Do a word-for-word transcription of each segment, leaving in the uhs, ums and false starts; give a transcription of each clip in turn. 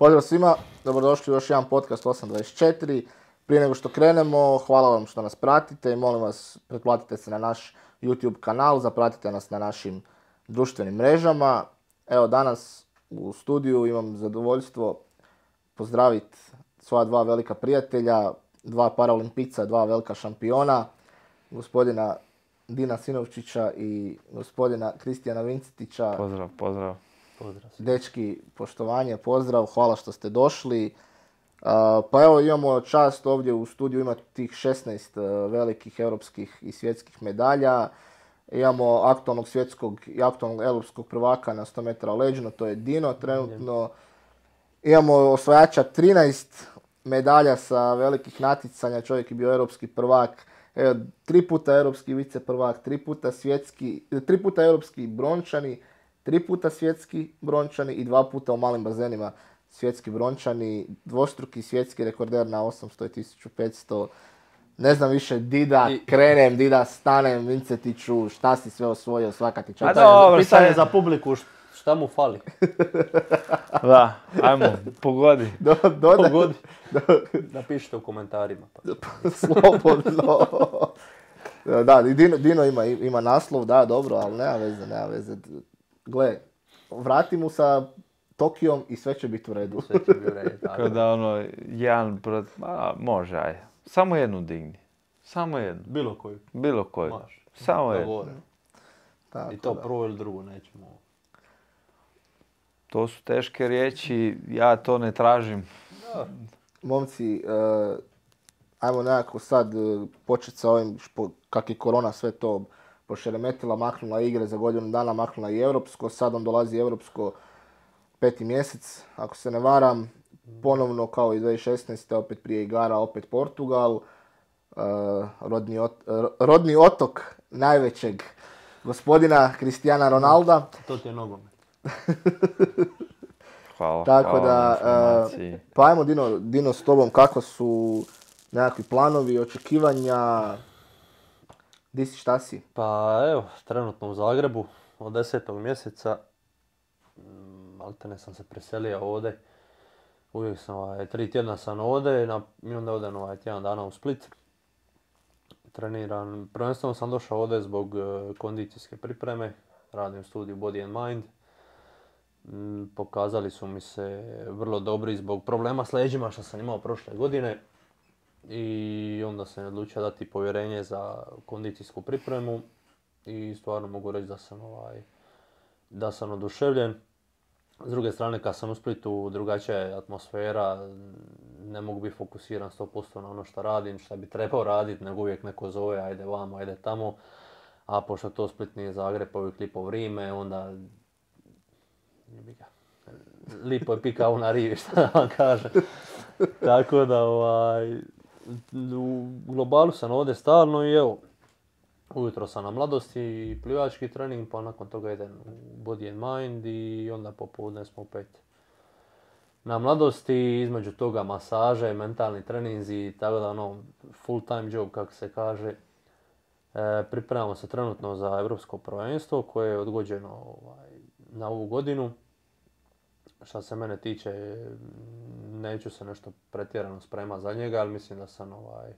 Pozdrav svima, dobrodošli u još jedan podcast osam dvadeset četiri. Prije nego što krenemo, hvala vam što nas pratite i molim vas pretplatite se na naš YouTube kanal, zapratite nas na našim društvenim mrežama. Evo danas u studiju imam zadovoljstvo pozdraviti svoja dva velika prijatelja, dva paraolimpijca, dva velika šampiona, gospodina Dina Sinovčića i gospodina Kristijana Vincetića. Pozdrav, pozdrav. Pozdrav. Dečki, poštovanje, pozdrav, hvala što ste došli. Uh, pa evo imamo čast ovdje u studiju imati tih šesnaest uh, velikih europskih i svjetskih medalja. Imamo aktualnog svjetskog i aktualnog europskog prvaka na sto metara leđno, to je Dino trenutno. Imamo osvajača trinaest medalja sa velikih natjecanja, čovjek je bio europski prvak, evo, tri puta europski vice prvak, tri puta svjetski, tri puta europski brončani, tri puta svjetski brončani i dva puta u malim bazenima svjetski brončani, dvostruki svjetski rekorder na osamsto i tisuću petsto. Ne znam više, Dida, I... krenem, Dida, stanem, Vincetiću, šta si sve osvojio, svaka ti čast. Pitanje, za, pitanje za publiku, šta mu fali? Da, ajmo, pogodi. Do, dodaj. Pogodi. Napišite u komentarima. Pa. Slobodno. Da, Dino, Dino ima, ima naslov, da, dobro, ali nema veze, nema veze. Gle, vrati mu sa Tokijom i sve će biti u redu. Sve će biti u redu. Kao da ono, jedan brat, a, može, aj. Samo jednu digni. Samo jednu. Bilo koju. Bilo koju. Može. Samo jednu. I to da. Prvo ili drugo nećemo. To su teške riječi, ja to ne tražim. Da. Momci, uh, ajmo nekako sad uh, početi sa ovim, špo, kak je korona sve to pošeremetila, maknula igre za godinu dana, maknula i europsko, sad on dolazi europsko peti mjesec, ako se ne varam, ponovno kao i dvije tisuće šesnaeste. opet prije igara, opet Portugal, uh, rodni, ot, uh, rodni otok najvećeg gospodina Cristiana Ronalda. To ti je nogomet. Hvala, Tako hvala da, uh, pa ajmo Dino, Dino s tobom, kako su nekakvi planovi, očekivanja, di si, šta si? Pa evo, trenutno u Zagrebu od desetog mjeseca, maltene sam se preselio ovdje, uvijek sam ovaj, tri tjedna sam ovdje na, i onda odem ovaj, tjedan dana u Split. Treniram, prvenstveno sam došao ovdje zbog uh, kondicijske pripreme, radim studiju Body and Mind. Mm, pokazali su mi se vrlo dobri zbog problema s leđima što sam imao prošle godine. I onda sam odlučio dati povjerenje za kondicijsku pripremu i stvarno mogu reći da sam, ovaj, da sam oduševljen. S druge strane, kad sam u Splitu, drugačija je atmosfera, ne mogu biti fokusiran sto posto na ono što radim, što bi trebao raditi, nego uvijek neko zove, ajde vamo, ajde tamo. A pošto to Split nije Zagreb, uvijek lipo vrijeme, onda lipo je pikao na rivi, šta da vam kažem. Tako da, ovaj, u globalu sam ovdje stalno i evo, ujutro sam na Mladosti i plivački trening, pa nakon toga idem u Body and Mind i onda popodne smo opet na Mladosti, između toga masaže, mentalni treninzi, tako da ono, full time job kako se kaže. E, pripremamo se trenutno za europsko prvenstvo koje je odgođeno ovaj, na ovu godinu. Što se mene tiče, neću se nešto pretjerano spremati za njega, ali mislim da sam ovaj,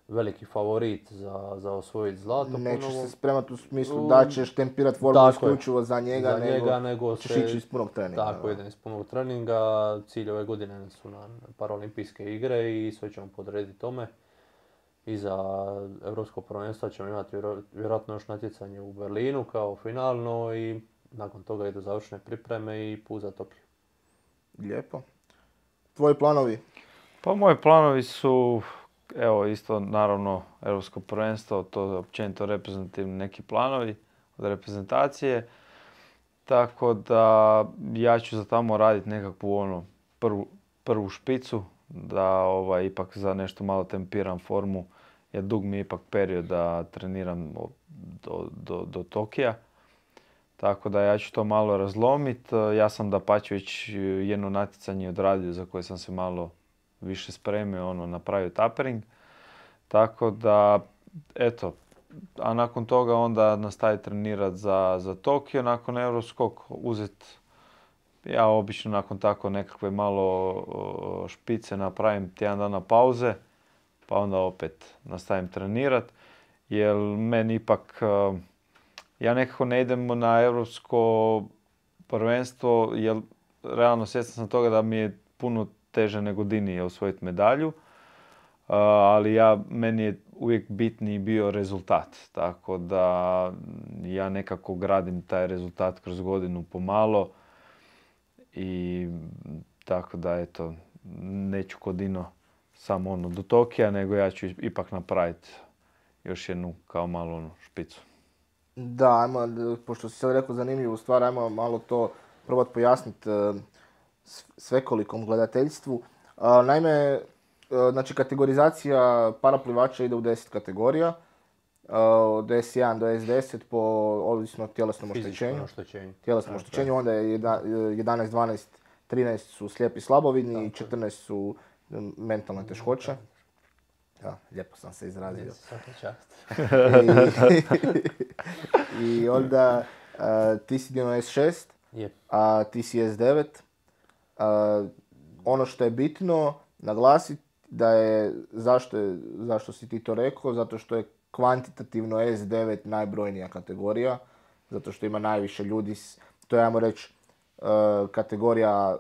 veliki favorit za, za osvojiti zlato. Nećeš se spremati u smislu da ćeš tempirati formu isključivo za njega, za nego, njega, nego ćeš ići iz punog treninga. Tako, idem iz punog treninga. Cilj ove godine su na paraolimpijske igre i sve ćemo podrediti tome. I za europsko prvenstvo ćemo imati vjerojatno još natjecanje u Berlinu kao finalno i nakon toga idu završne pripreme i put za Tokio. Lijepo. Tvoji planovi? Pa moji planovi su, evo isto naravno europsko prvenstvo, to je općenito reprezentativni neki planovi od reprezentacije. Tako da ja ću za tamo raditi nekakvu ono prvu, prvu špicu, da ovaj, ipak za nešto malo tempiram formu, jer dug mi je ipak period da treniram do, do, do Tokija. Tako da ja ću to malo razlomiti. Ja sam dapače već jedno natjecanje odradio za koje sam se malo više spremio, ono, napravio tapering. Tako da, eto, a nakon toga onda nastaviti trenirati za, za Tokio, nakon europskog uzeti ja obično nakon tako nekakve malo špice napravim tjedan dana pauze, pa onda opet nastavim trenirat. Jer meni ipak, ja nekako ne idem na europsko prvenstvo, jer realno svjestan sam toga da mi je puno teže nego Dini osvojiti medalju. Ali ja, meni je uvijek bitniji bio rezultat, tako da ja nekako gradim taj rezultat kroz godinu pomalo i tako da eto, neću kod Dino samo ono do Tokija, nego ja ću ipak napraviti još jednu kao malo ono špicu. Da, ajmo, pošto si sad rekao zanimljivu stvar, ajmo malo to probat pojasniti svekolikom gledateljstvu. Naime, znači kategorizacija paraplivača ide u deset kategorija, od es jedan do es deset po ovisno tjelesnom oštećenju. Tjelesnom oštećenju, onda je jedanaest, dvanaest, trinaest su slijepi slabovidni i četrnaest su mentalne teškoće. Ja, lijepo sam se izrazio. I, I onda uh, ti si dio es šest, yep. A ti si es devet. Uh, ono što je bitno naglasiti da je, zašto, je, zašto si ti to rekao, zato što je kvantitativno es devet najbrojnija kategorija, zato što ima najviše ljudi, to je, ajmo reći, uh, kategorija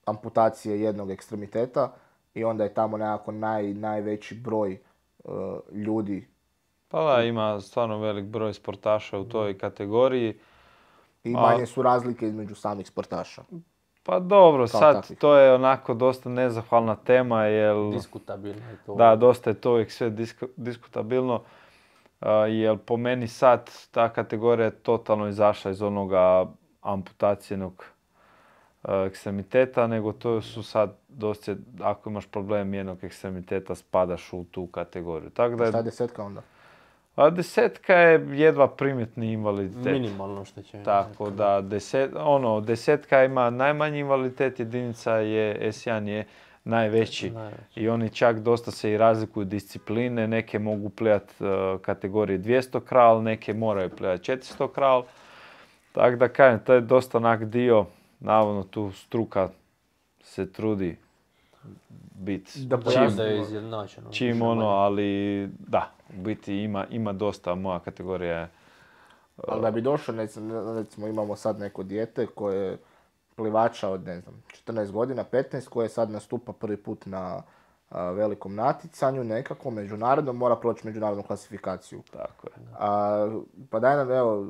amputacije jednog ekstremiteta i onda je tamo nekako naj, najveći broj uh, ljudi. Pa da, ima stvarno velik broj sportaša u toj kategoriji. I manje su razlike između samih sportaša. Pa dobro, Kao sad takvih. to je onako dosta nezahvalna tema, jer... Diskutabilno je to. Da, dosta je to uvijek sve disk, diskutabilno, uh, jer po meni sad ta kategorija je totalno izašla iz onoga amputacijenog uh, ekstremiteta, nego to su sad dosta, ako imaš problem jednog ekstremiteta, spadaš u tu kategoriju. Tak da je, Šta je desetka onda? A desetka je jedva primjetni invaliditet. Minimalno oštećenje. Tako da deset, ono, desetka ima najmanji invaliditet, jedinica je es jedan je najveći. najveći. I oni čak dosta se i razlikuju discipline, neke mogu plivati uh, kategorije dvjesto kral, neke moraju plivati četiristo kral. Tako da kažem, to je dosta onak dio, navodno tu struka se trudi biti da čim, da je izjednačeno. Čim ono, ali da, u biti ima, ima dosta, moja kategorija je... Uh, ali da bi došao, recimo imamo sad neko dijete koje je plivača od, ne znam, četrnaest godina, petnaest, koje sad nastupa prvi put na a, velikom natjecanju, nekako međunarodno, mora proći međunarodnu klasifikaciju. Tako je. A, pa daj nam, evo,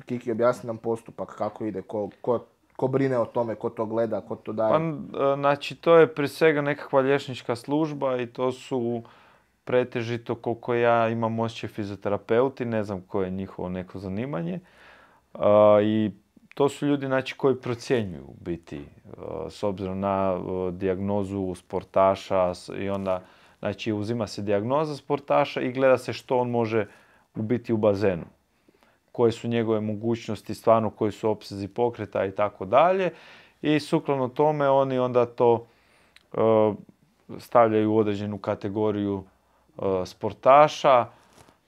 Kiki, objasni nam postupak, kako ide, ko, ko, ko brine o tome, ko to gleda, ko to daje. Pa, znači, to je prije svega nekakva liječnička služba i to su pretežito, koliko ja imam osjećaj, fizioterapeuti, ne znam koje je njihovo neko zanimanje. Uh, I to su ljudi, znači, koji procjenjuju biti, uh, s obzirom na uh, dijagnozu sportaša i onda, znači, uzima se dijagnoza sportaša i gleda se što on može ubiti u bazenu. Koje su njegove mogućnosti, stvarno koji su opsezi pokreta i tako dalje. I sukladno tome oni onda to uh, stavljaju u određenu kategoriju uh, sportaša.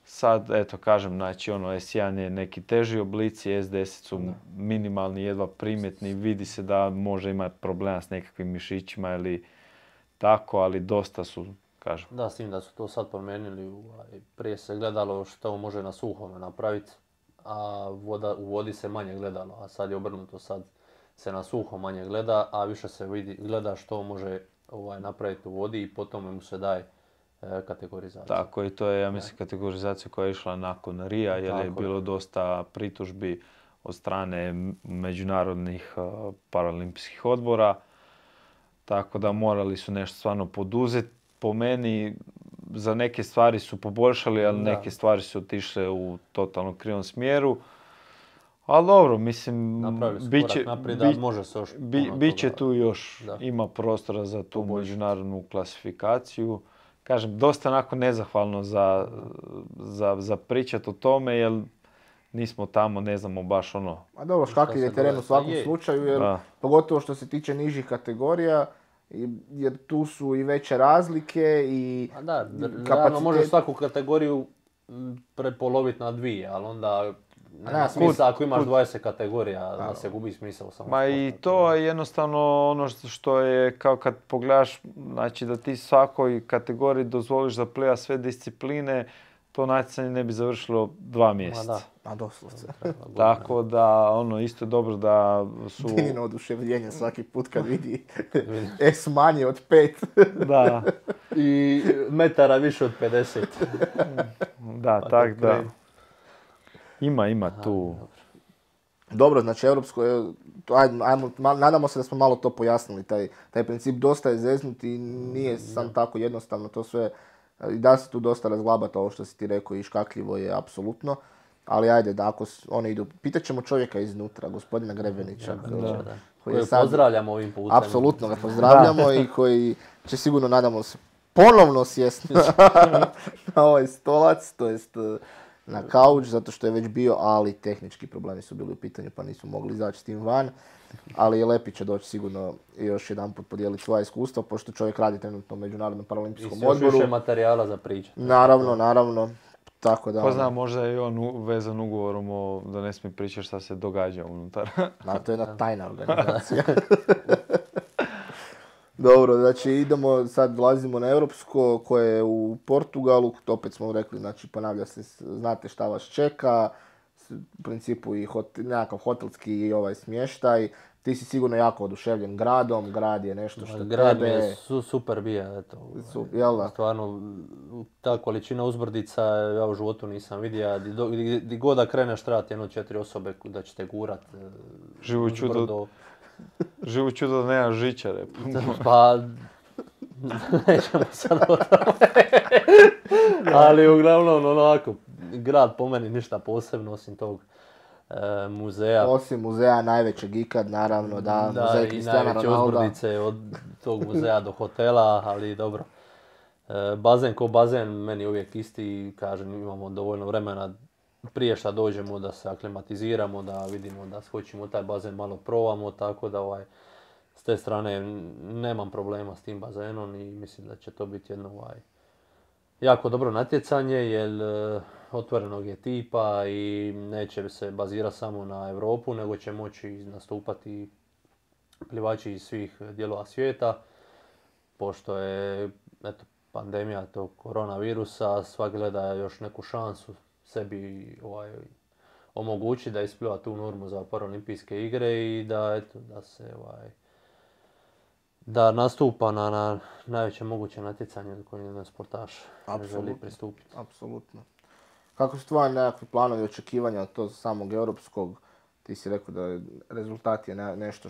Sad, eto, kažem, znači, ono, es jedan je neki teži oblici, es deset su minimalni, jedva primjetni, vidi se da može imati problema s nekakvim mišićima ili tako, ali dosta su, kažem. Da, s tim da su to sad promijenili, prije se gledalo što može na suhome napraviti, a voda, u vodi se manje gledalo, a sad je obrnuto, sad se na suho manje gleda, a više se vidi, gleda što može ovaj, napraviti u vodi i potom mu se daje kategorizacija. Tako i to je, ja mislim, kategorizacija koja je išla nakon Rija, jer je bilo dosta pritužbi od strane međunarodnih uh, paralimpijskih odbora. Tako da morali su nešto stvarno poduzeti. Po meni za neke stvari su poboljšali, ali da. neke stvari su otišle u totalno krivom smjeru. Ali dobro, mislim, bit će, naprijed, bit, može se još bi, bit će tu još, da. ima prostora za tu međunarodnu klasifikaciju. Kažem, dosta onako nezahvalno za, za, za pričat o tome, jer nismo tamo, ne znamo baš ono... A dobro, škakljiv je teren u svakom je. slučaju, jer da. pogotovo što se tiče nižih kategorija, jer tu su i veće razlike i A da, kapacitet... može svaku kategoriju prepoloviti na dvije, ali onda nema smisla ako imaš dvadeset kategorija da se gubi smisao samo. Ma i to je jednostavno ono što je kao kad pogledaš, znači da ti svakoj kategoriji dozvoliš da plija sve discipline, to natjecanje ne bi završilo dva mjeseca. A doslovce. Tako da, ono, isto je dobro da su... Dinino oduševljenje svaki put kad vidi S manje od pet. Da. I metara više od pedeset. Da, pa tak da. Ima, ima tu. Dobro, dobro znači europsko je, ajmo, ajmo, nadamo se da smo malo to pojasnili, taj, taj princip dosta je zeznut i nije sam tako jednostavno to sve. I da se tu dosta razglabati ovo što si ti rekao i škakljivo je apsolutno. Ali ajde, da ako oni idu, pitat ćemo čovjeka iznutra, gospodina Grebenića. Da, da, da. Koji je sad, pozdravljamo ovim putem. Apsolutno ga pozdravljamo i koji će sigurno, nadamo se, ponovno sjesti na ovaj stolac, to jest na kauč, zato što je već bio, ali tehnički problemi su bili u pitanju pa nisu mogli izaći s tim van. Ali je Lepi će doći sigurno i još jedan put podijeliti svoje iskustva, pošto čovjek radi trenutno u Međunarodnom paraolimpijskom odboru. I još više materijala za priču. Naravno, naravno. Tako da... Ko zna, možda je i on vezan ugovorom o, da ne smije pričati šta se događa unutar. Da, to je jedna tajna organizacija. Dobro, znači idemo, sad dolazimo na europsko koje je u Portugalu, to opet smo rekli, znači ponavlja se, znate šta vas čeka, u principu i hot, nekakav hotelski i ovaj smještaj. Ti si sigurno jako oduševljen gradom, grad je nešto što grad tebe... Grad je su, super bija, eto. Su, jel da? Stvarno, ta količina uzbrdica ja u životu nisam vidio. Di god da kreneš trebati jedno četiri osobe da će te gurat. Živo čudo, živo čudo da nema žičare. Pa, nećemo sad o tome. Ali uglavnom, onako, grad po meni ništa posebno osim tog e, muzeja. Osim muzeja najvećeg ikad, naravno, da, da muzej i Kristijana najveće Ronalda. uzbrdice od tog muzeja do hotela, ali dobro. E, bazen ko bazen, meni uvijek isti, kažem, imamo dovoljno vremena prije što dođemo da se aklimatiziramo, da vidimo da skočimo taj bazen malo probamo, tako da ovaj, s te strane nemam problema s tim bazenom i mislim da će to biti jedno ovaj, jako dobro natjecanje jer e, otvorenog je tipa i neće se bazirati samo na Europu, nego će moći nastupati plivači iz svih dijelova svijeta, pošto je eto, pandemija tog koronavirusa, svak gleda još neku šansu sebi ovaj, omogući da ispliva tu normu za paraolimpijske igre i da, eto, da se ovaj, da nastupa na, na najveće moguće natjecanje koje jedan sportaš ne želi pristupiti. Apsolutno. Kako su tvoji nekakvi planovi i očekivanja od tog samog europskog? Ti si rekao da rezultat je nešto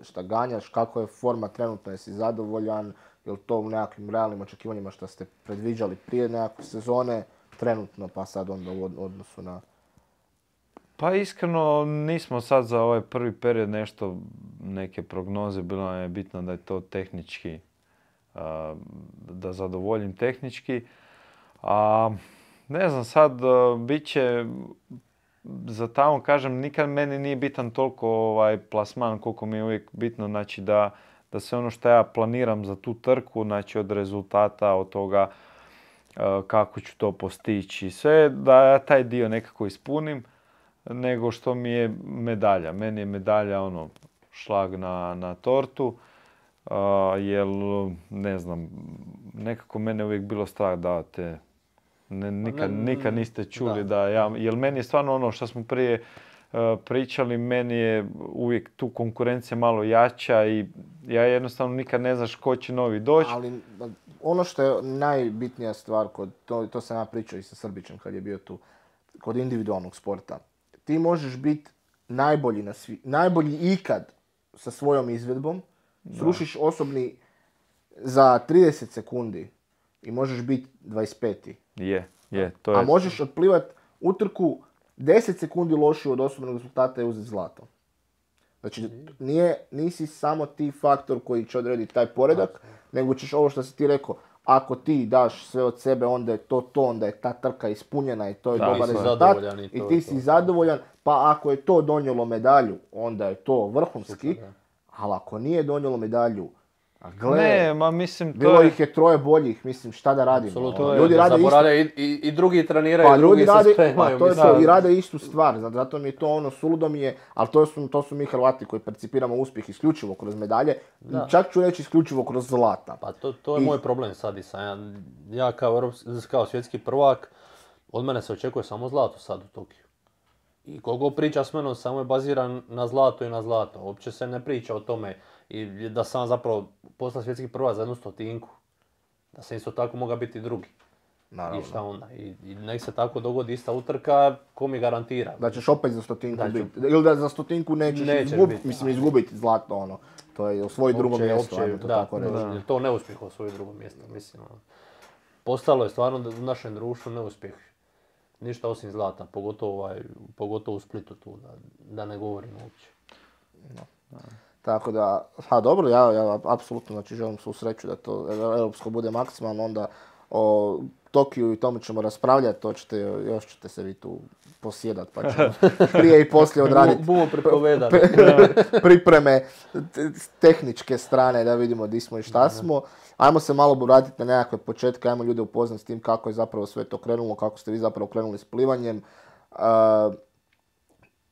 što ganjaš. Kako je forma trenutno? Jesi zadovoljan? Je li to u nekakvim realnim očekivanjima što ste predviđali prije nekakve sezone? Trenutno pa sad onda u odnosu na... Pa iskreno nismo sad za ovaj prvi period nešto, neke prognoze, bilo nam je bitno da je to tehnički, da zadovoljim tehnički. A ne znam, sad bit će, za tamo kažem, nikad meni nije bitan toliko ovaj plasman koliko mi je uvijek bitno, znači da, da sve ono što ja planiram za tu trku, znači od rezultata, od toga kako ću to postići, sve da ja taj dio nekako ispunim, nego što mi je medalja. Meni je medalja ono šlag na, na tortu, uh, jer ne znam, nekako mene uvijek bilo strah da te ne, nikad, nikad niste čuli da, da ja, jer meni je stvarno ono što smo prije uh, pričali, meni je uvijek tu konkurencija malo jača i ja jednostavno nikad ne znaš ko će novi doći. Ali ono što je najbitnija stvar, kod, to, to sam ja pričao i sa Srbićem kad je bio tu, kod individualnog sporta. Ti možeš biti najbolji, na svi, najbolji ikad sa svojom izvedbom, srušiš osobni za trideset sekundi i možeš biti dvadeset peti. Je, je, to je. A možeš otplivati utrku deset sekundi lošiju od osobnog rezultata i uzeti zlato. Znači, nije, nisi samo ti faktor koji će odrediti taj poredak, okay. nego ćeš ovo što si ti rekao, ako ti daš sve od sebe, onda je to to, onda je ta trka ispunjena i to je da, dobar rezultat i, i ti si to. zadovoljan, pa ako je to donijelo medalju, onda je to vrhunski, super, ali ako nije donijelo medalju, A gle, Ne, ma mislim to bilo je... ih je troje boljih, mislim šta da radimo. Apsolutno, Ono, je, ljudi rade isto, zaboravljaju i, i, i drugi treniraju, pa i drugi ljudi se rade, spremaju. pa to je mislim. to, i rade istu stvar, zato- zato mi je to ono suludo mi je, ali to su, to su mi Hrvati koji percipiramo uspjeh isključivo kroz medalje, Da. čak ću reći isključivo kroz zlata. Pa to, to je I- moj problem sad i sam. Ja, ja kao, europski- kao svjetski prvak, od mene se očekuje samo zlato sad u Tokiju. I koliko priča s menom samo je baziran na zlato i na zlato. Uopće se ne priča o tome i da sam zapravo postao svjetski prvak za jednu stotinku. Da sam isto tako mogao biti drugi. Naravno. I šta onda? I, i nek se tako dogodi ista utrka, ko mi garantira? Da ćeš opet za stotinku Da ću- biti, ili da za stotinku nećeš Nećeš izgubiti, biti, mislim da. izgubiti zlato ono. To je osvoji drugo Opće- mjesto, opće- ajmo to da, tako reći. to, je to neuspjeh osvoji drugo mjesto, mislim. ono. Postalo je stvarno da- u našem društvu neuspjeh. Ništa osim zlata, pogotovo, ovaj, pogotovo u Splitu tu, da, da ne govorim uopće. Tako da, ha dobro, ja, ja apsolutno znači, želim svu sreću da to europsko bude maksimalno, onda o Tokiju i tome ćemo raspravljati, to ćete, još ćete se vi tu posjedat, pa ćemo prije i poslije odraditi Bumo pripovedali. pripreme te- tehničke strane da vidimo di smo i šta smo. Ajmo se malo vratiti na nekakve početke, ajmo ljude upoznati s tim kako je zapravo sve to krenulo, kako ste vi zapravo krenuli s plivanjem. Uh,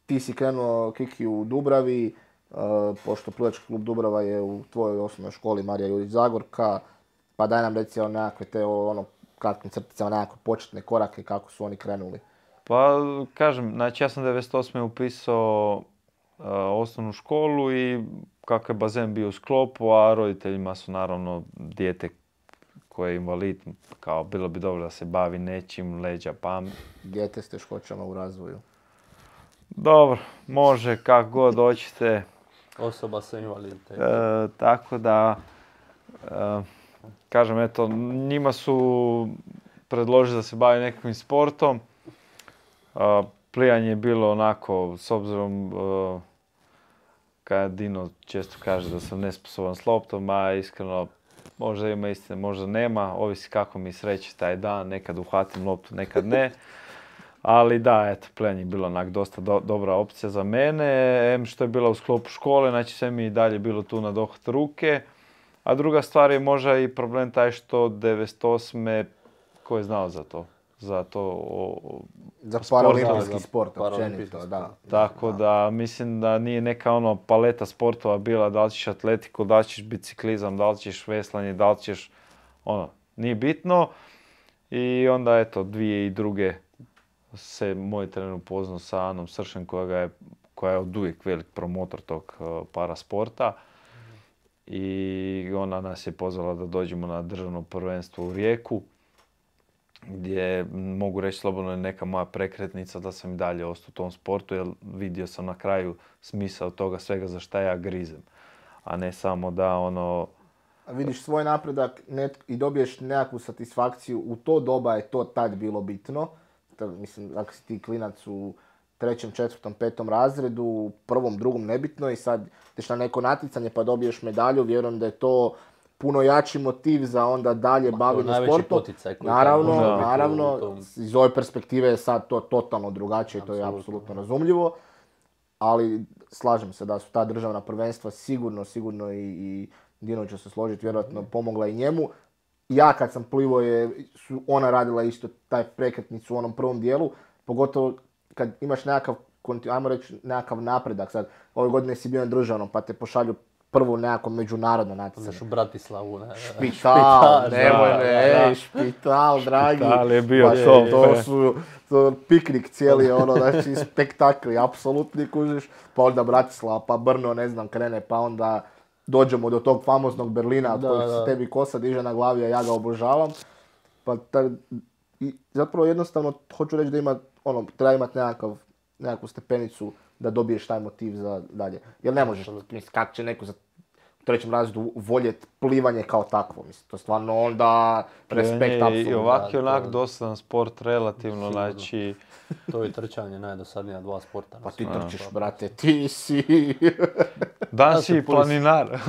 ti si krenuo Kiki u Dubravi, uh, pošto plivački klub Dubrava je u tvojoj osnovnoj školi Marija Jurić Zagorka, pa daj nam reci o nekakve te o, ono kratkim crticama, nekakve početne korake kako su oni krenuli. Pa kažem, znači ja sam devedeset osme upisao uh, osnovnu školu i kako je bazen bio u sklopu, a roditeljima su naravno dijete koje je invalid, kao bilo bi dobro da se bavi nečim, leđa, pam. Dijete s teškoćama u razvoju. Dobro, može kako god hoćete. Osoba sa invaliditetom. E, tako da, e, kažem, eto, njima su predložili da se bavi nekakvim sportom. E, plivanje je bilo onako, s obzirom, e, kad Dino često kaže da sam nesposoban s loptom, a iskreno, možda ima istine, možda nema, ovisi kako mi sreće taj dan, nekad uhvatim loptu, nekad ne. Ali da, eto, plivanje je bilo onak dosta do, dobra opcija za mene, em što je bila u sklopu škole, znači sve mi i dalje bilo tu na dohvat ruke. A druga stvar je možda i problem taj što devedeset osme ko je znao za to? Za to o, o, Za sport, paraolimpijski da, sport, paraolimpijski općenito, da. tako da mislim da nije neka ono paleta sportova bila da li ćeš atletiku, da li ćeš biciklizam, da li ćeš veslanje, da li ćeš ono, nije bitno. I onda eto, dvije i druge se moj trener upoznao sa Anom Sršen koja, ga je, koja je od uvijek velik promotor tog uh, parasporta. I ona nas je pozvala da dođemo na državno prvenstvo u Rijeku, gdje mogu reći slobodno je neka moja prekretnica da sam i dalje ostao u tom sportu, jer vidio sam na kraju smisao toga svega za šta ja grizem. A ne samo da ono... Vidiš svoj napredak net, i dobiješ nekakvu satisfakciju, u to doba je to tad bilo bitno. To, mislim, ako si ti klinac u trećem, četvrtom, petom razredu, u prvom, drugom nebitno i sad ideš na neko natjecanje pa dobiješ medalju, vjerujem da je to puno jači motiv za onda dalje bavljenje najveći sportom. poticaj koji Naravno, tamo može biti naravno, u tom- iz ove perspektive je sad to totalno drugačije, to je Apsolutno. apsolutno razumljivo. Ali slažem se da su ta državna prvenstva sigurno, sigurno i, i Dino će se složiti, vjerojatno pomogla i njemu. Ja kad sam plivao je, su ona radila isto taj prekretnicu u onom prvom dijelu, pogotovo kad imaš nekakav, konti- ajmo reći, nekakav napredak. Sad, ove godine si bio na državnom pa te pošalju prvo nekako međunarodno natjecanje. Znaš u Bratislavu, ne? Špital, nemoj da, me, da, ej, da. špital, dragi. Špital je bio Baš to, to fe. su, to piknik cijeli, ono, znači, spektakli, apsolutni, kužiš. Pa onda Bratislava, pa Brno, ne znam, krene, pa onda dođemo do tog famoznog Berlina, od Da, kojeg se da. tebi kosa diže na glavi, a ja ga obožavam. Pa ta, i zapravo jednostavno, hoću reći da ima, ono, treba imati nekakav, nekakvu stepenicu da dobiješ taj motiv za dalje. Jer ne možeš, mislim, kako će neko za u trećem razredu voljet plivanje kao takvo, mislim, to stvarno onda respekt Plivanje je i apsolutno. ovak i da, onak to- dosadan sport, relativno, Sigurno. znači... To je trčanje najdosadnija dva sporta. na Pa ti svijetu. trčiš, brate, ti si... Dan Ja si se i pulis- planinar.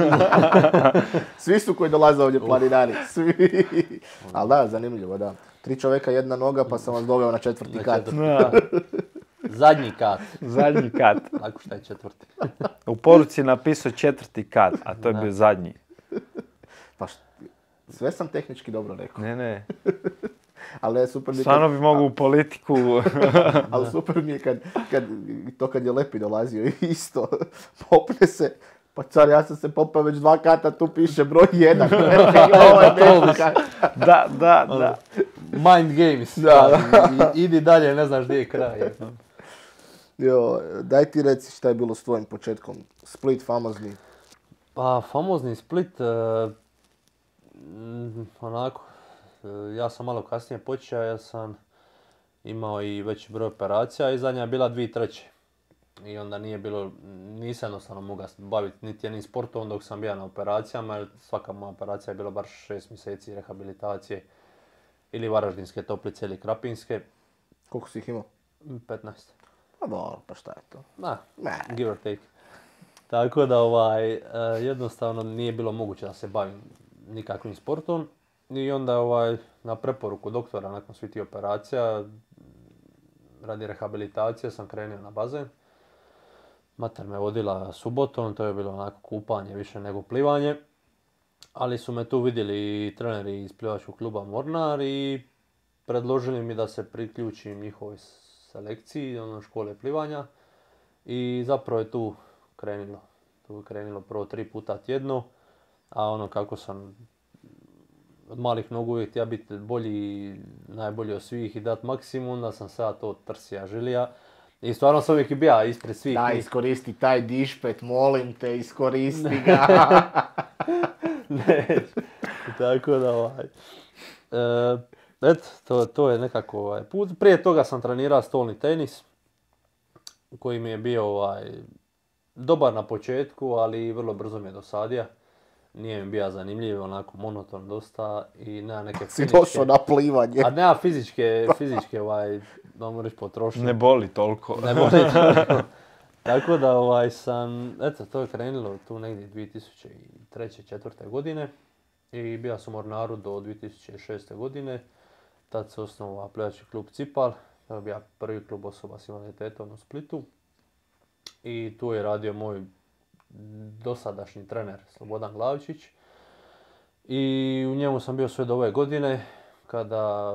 Svi su koji dolaze ovdje planinari, svi. Ali da, zanimljivo, da. Tri čovjeka, jedna noga, pa sam vas doveo na četvrti Na kat. četvrti. Da, Zadnji kat. zadnji kat. Ako šta je četvrti. U poruci je napisao četvrti kat, a to je Da. bio zadnji. Pa št, sve sam tehnički dobro rekao. Ne, ne. Ali je super mi je Stvarno kad, bi mogu u politiku. ali super mi je kad, kad, to kad je Lepi dolazio isto, popne se, pa car, ja sam se popao već dva kata, tu piše broj jedan. Ovo je nešto. Da, da, da. Mind games. Da. I, idi dalje, ne znaš gdje je kraj. Jo, daj ti reci šta je bilo s tvojim početkom. Split famozni. Pa, famozni Split, uh, onako, uh, ja sam malo kasnije počeo, ja sam imao i veći broj operacija i zadnja je bila dvije treće. I onda nije bilo, nisam jednostavno mogao baviti niti jednim sportom dok sam bio na operacijama, jer svaka moja operacija je bila bar šest mjeseci rehabilitacije. Ili Varaždinske toplice ili Krapinske. Koliko si ih imao? petnaest. Pa dobro, pa šta je to? Da, Ne. give or take. Tako da ovaj, uh, jednostavno nije bilo moguće da se bavim nikakvim sportom. I onda ovaj, na preporuku doktora nakon svih tih operacija, radi rehabilitacije sam krenuo na bazen. Mater me vodila subotom, to je bilo onako kupanje više nego plivanje. Ali su me tu vidjeli i treneri iz plivačkog kluba Mornar i predložili mi da se priključim njihovoj selekciji, ono škole plivanja. I zapravo je tu krenulo. Tu je krenulo prvo tri puta tjedno, a ono kako sam od malih nogu uvijek htio biti bolji, najbolji od svih i dati maksimum, da sam sada to trsija želija. I stvarno sam uvijek i bija ispred svih. Da, njih. iskoristi taj dišpet, molim te, iskoristi ga. Ne, tako da ovaj. E, eto, to, to je nekako ovaj put. Prije toga sam trenirao stolni tenis, koji mi je bio ovaj, dobar na početku, ali vrlo brzo mi je dosadio. Nije mi bio zanimljiv, onako monoton dosta i nema neke Si fizičke... došao na plivanje. A nema fizičke, fizičke ovaj, da moraš potrošiti. Ne boli toliko. Ne boli toliko. Tako da ovaj sam, eto, to je krenulo tu negdje dvije tisuće treće četvrte godine i bio sam u Mornaru do dvije tisuće šeste godine. Tad se osnovao plivački klub Cipal, to je bio prvi klub osoba s invaliditetom u Splitu. I tu je radio moj dosadašnji trener Slobodan Glavčić. I u njemu sam bio sve do ove godine, kada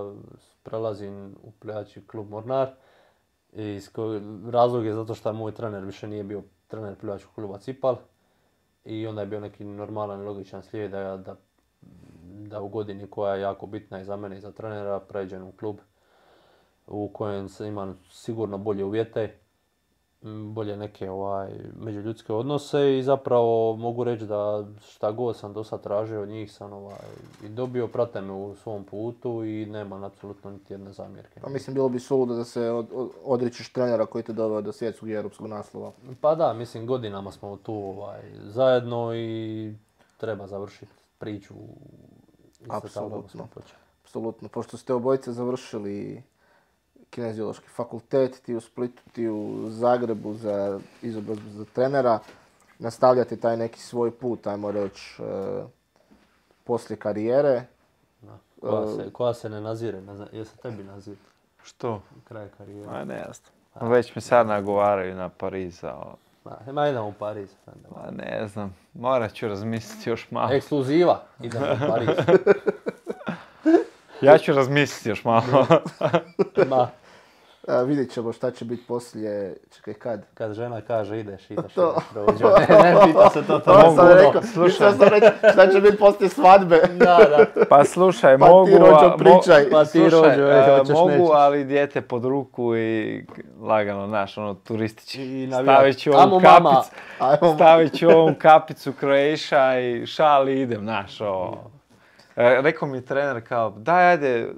prelazim u plivački klub Mornar. I razlog je zato što moj trener više nije bio trener plivačkog kluba Cipal. I onda je bio neki normalan i logičan slijed da, da, da u godini koja je jako bitna i za mene i za trenera pređem u klub u kojem se imam sigurno bolje uvjete, bolje neke ovaj, međuljudske odnose i zapravo mogu reći da šta god sam do sad tražio od njih sam ovaj, i dobio, prate me u svom putu i nemam apsolutno niti jedne zamjerke. Pa mislim, bilo bi suludo da se od, od, odričeš trenera koji te doveo do svjetskog i europskog naslova. Pa da, mislim godinama smo tu ovaj, zajedno i treba završiti priču. Apsolutno. Apsolutno. Pošto ste obojice završili kineziološki fakultet, ti u Splitu, ti u Zagrebu za izobrazbu za trenera, nastavljate taj neki svoj put, ajmo reći, e, poslije karijere. Da. Koja, se, koja se ne nazire, ne zna, jel se tebi nazire? Što? Kraj karijere. A ne znam. Već mi sad nagovaraju na Pariza. Da, ma idemo u Pariz. A ne znam, morat ću razmisliti još malo. Ekskluziva, idemo u Pariz. Ja ću razmisliti još malo. Ma. A, vidjet ćemo šta će biti poslije, čekaj kad? Kad žena kaže ideš, ideš, To. ideš, prođe. Ne, ne, pita se to, to To mogu. sam rekao, Slušaj. mislio sam reći šta će biti poslije svadbe. Da, da. Pa slušaj, Pa mogu... ti, Rođo, a, mo- pričaj. Pa ti, slušaj, Rođo, ej, a, hoćeš, mogu, nećeš. ali dijete pod ruku i lagano, znaš, ono, turistički. I navijat. Stavit ću Amo, ovu mama. kapicu, Ajmo. stavit ću ovu kapicu Croatia i šal i idem, znaš, ovo. E, rekao mi je trener kao, daj, ajde,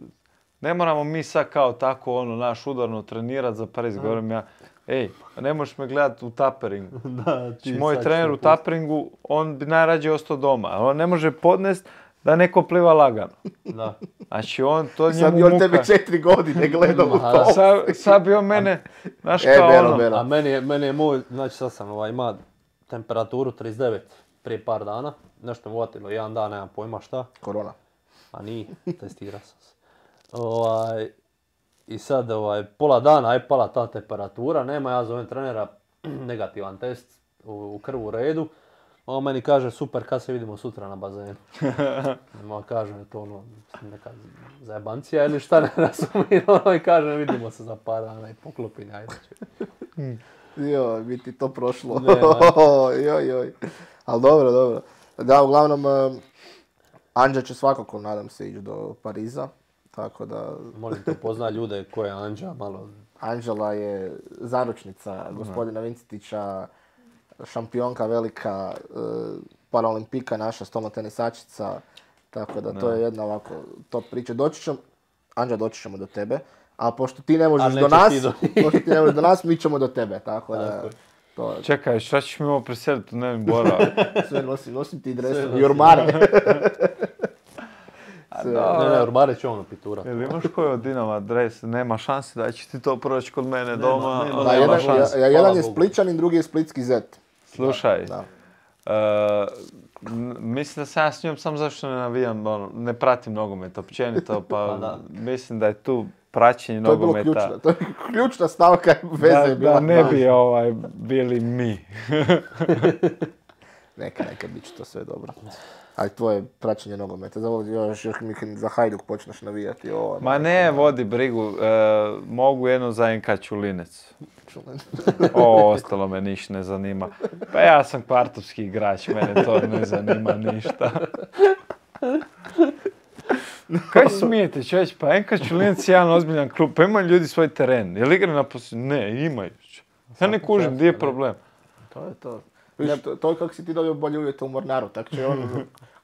ne moramo mi sad kao tako, ono, naš udarno trenirat za Pariz. Govorim ja, ej, ne možeš me gledat u taperingu. Da, ti Znači, moj sad trener ću u pustiti. taperingu, on bi najrađe ostao doma, ali on ne može podnest da neko pliva lagano. Da. Znači, on, to Sad njemu bi on muka. tebe četiri godine gledao u Ma, to. Sad, sad bi on mene, znaš E, kao Bero, ono, Bero. A meni je, meni je moj, znači sad sam ovaj, ima temperaturu trideset devet prije par dana. Nešto me uvatilo, jedan dan, nemam pojma šta. Korona. A nije, testirao sam se. Ovaj, I sad ovaj, pola dana je pala ta temperatura, nema, ja zovem trenera, negativan test, u, u krvu u redu. On meni kaže, super, kad se vidimo sutra na bazenu. Ma kaže, je to ono, neka zajebancija ili šta, ne razumijem, ono i kaže, vidimo se za par dana i poklopim, ajde ću. Joj, bi ti to prošlo. Ne, joj, joj. Ali dobro, dobro. Da, uglavnom, uh, Anđa će svakako, nadam se, ići do Pariza. Tako da... Molim te, pozna ljude ko je Anđa, malo... Anđela je zaručnica gospodina Vincetića, šampionka velika, uh, paraolimpika naša, stolnotenisačica. Tako da to je jedna ovako top priča. Doći ćemo, Anđa, doći ćemo do tebe. A pošto ti ne možeš do nas, do... pošto ti ne možeš do nas, mi ćemo do tebe, tako da... To... Čekaj, šta ćeš mi ovo preseliti u Nevin Bora? Sve nosim, nosim ti dresom i ormare. Ne, ne, ormare će ono piturati. Jel imaš koji od Dinama dres? Nema šanse da će ti to proći kod mene doma. Nema, da, jedan, ja, ja, jedan je Spličanin, drugi je Splitski zet. Slušaj, da. Uh, mislim da sam ja s njom samo zašto ne navijam, ono, ne pratim nogomet općenito, pa da. Mislim da je tu praćenje to nogometa. To je bilo ključno, to je ključna stavka veze da, je bila. Da ne bi ovaj, bili mi. Neka, neka, bit će to sve dobro. Ali tvoje praćenje nogometa, zavoli još, još mi za Hajduk počneš navijati. O, Ma ne, vodi brigu, e, mogu jedno za en ka Čulinec. O, ostalo me ništa ne zanima. Pa ja sam kvartovski igrač, mene to ne zanima ništa. Kaj smijete, čovječ, pa en ka Čulinec je jedan ozbiljan klub, pa imaju ljudi svoj teren. Jel igra na posljednju? Ne, imaju. Ja ne kužim, gdje je problem? To je to. Viš, to, to je kako si ti dobio bolje uvjete u Mornaru, tako će on...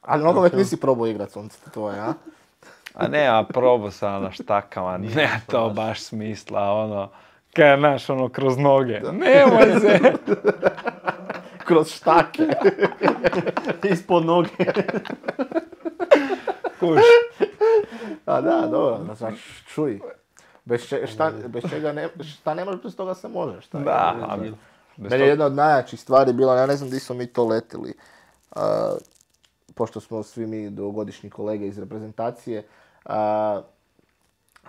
Ali nogomet nisi probao igrat, sunce tvoje, a? A ne, a probao sam na štakama, ne to baš smisla, ono... Kaj, znaš, ono, kroz noge. Nemoj se! Kroz štake. Ispod noge. Kuš. A da, dobro, da znaš, čuj. Bez, če, šta, bez čega ne, šta ne možeš, bez toga se može, šta je? Da, ali... Meni je jedna od najjačih stvari bila, ja ne znam di smo mi to letili, uh, pošto smo svi mi dugogodišnji kolege iz reprezentacije, uh,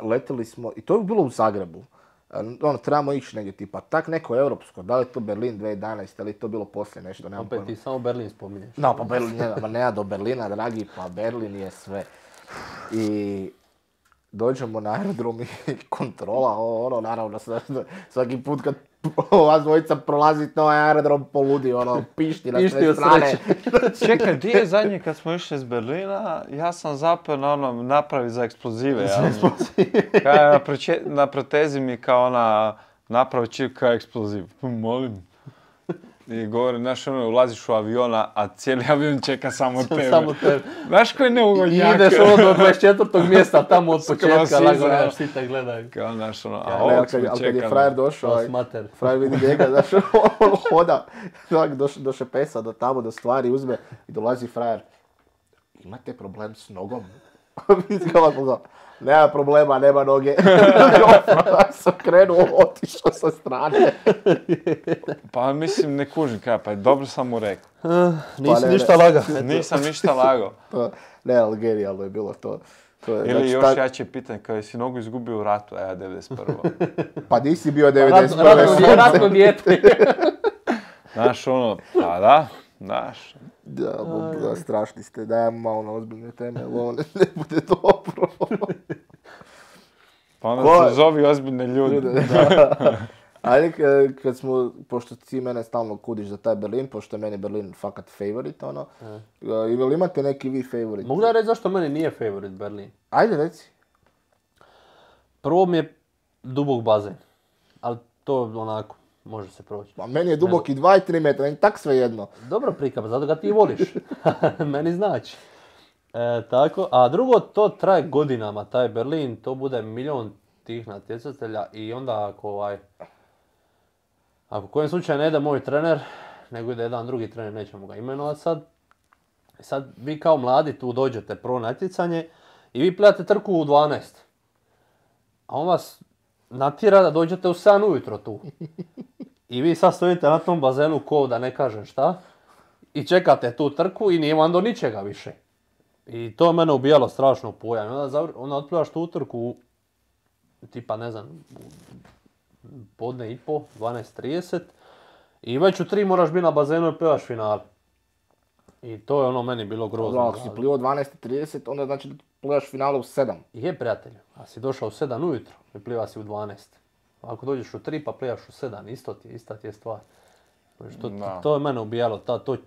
letili smo, i to je bilo u Zagrebu, uh, ono, trebamo ići negdje tipa, tak neko europsko, da li je to Berlin dvije tisuće jedanaeste ili je to bilo poslije nešto, nemam opet pojma. ti samo Berlin spominješ. No, pa Berlin, ne, ma nema do Berlina, dragi, pa Berlin je sve. I... Dođemo na aerodrom i kontrola, ono, naravno, svaki put kad vas dvojica prolazite na ovaj aerodrom poludi, ono, pišti na sve strane. Čekaj, gdje je zadnje kad smo išli iz Berlina, ja sam zapeo na ono, napravi za eksplozive. Za eksplozive. Kaj, na, preče, na protezi mi kao ona, napravi čip kao eksploziv. Molim. I govori, znaš, ono, ulaziš u aviona, a cijeli avion čeka samo tebe. Samo tebe. Znaš koji neugodnjak? I ideš ono do dvadeset četvrtog mjesta, tamo od početka, lagano, svi te gledaju. Kao, znaš, ono, a ja, ovog smo čekali. Ali kad je čekali. frajer došao, frajer vidi njega, znaš, on hoda, doš, doše pesa do tamo, do stvari, uzme i dolazi frajer. Imate problem s nogom? Vidi ga ovako, nema problema, nema noge. Ja sam krenuo, otišao sa strane. Pa mislim, ne kužim kaj, pa dobro sam mu rekao. Uh, nisi pa, ne, ništa lagao. Nisam ništa lagao. Ne, ali genijalno je bilo to. to je, Ili znači, još ta... jače pitanje, kada si nogu izgubio u ratu, a ja devedeset prva. Pa nisi bio devedeset prva. Ratno, ratno dijete. Znaš ono, pa da, znaš. Da, da, strašni ste, dajemo malo na ozbiljne teme, ovo ne, ne bude dobro. Pa onda se zovi ozbiljne ljude. Da. Ali kad smo, pošto ti mene stalno kudiš za taj Berlin, pošto je meni Berlin fakat favorit, ono, i li imate neki vi favorit? Mogu da reći zašto meni nije favorit Berlin? Ajde, reci. Prvo mi je dubok bazen, ali to onako, može se proći. Pa meni je dubok i dva i tri metra, meni tak sve jedno. Dobro prikap, zato ga ti voliš. Meni znači. E, tako, a drugo, to traje godinama, taj Berlin, to bude milion tih natjecatelja i onda ako ovaj, ako u kojem slučaju ne ide moj trener, nego ide jedan drugi trener, nećemo ga imenovati sad. Sad vi kao mladi tu dođete prvo natjecanje i vi pledate trku u dvanaest. A on vas natjera da dođete u sedam ujutro tu. I vi sad stojite na tom bazenu ko da ne kažem šta i čekate tu trku i nije vam do ničega više. I to je mene ubijalo strašno u pojam. Onda, zavr... onda otplivaš tu utrku u, tipa ne znam, podne i po, dvanaest trideset i već u tri moraš biti na bazenu i plivaš finale. I to je ono meni bilo grozno. Ako si plivao dvanaest trideset, onda znači da plivaš finale u sedam. Je, prijatelju, a si došao u sedam ujutro i pliva si u dvanaest. Ako dođeš u tri pa plivaš u sedam, isto ti je, ista ti je stvar. Što, to je mene ubijalo, ta, to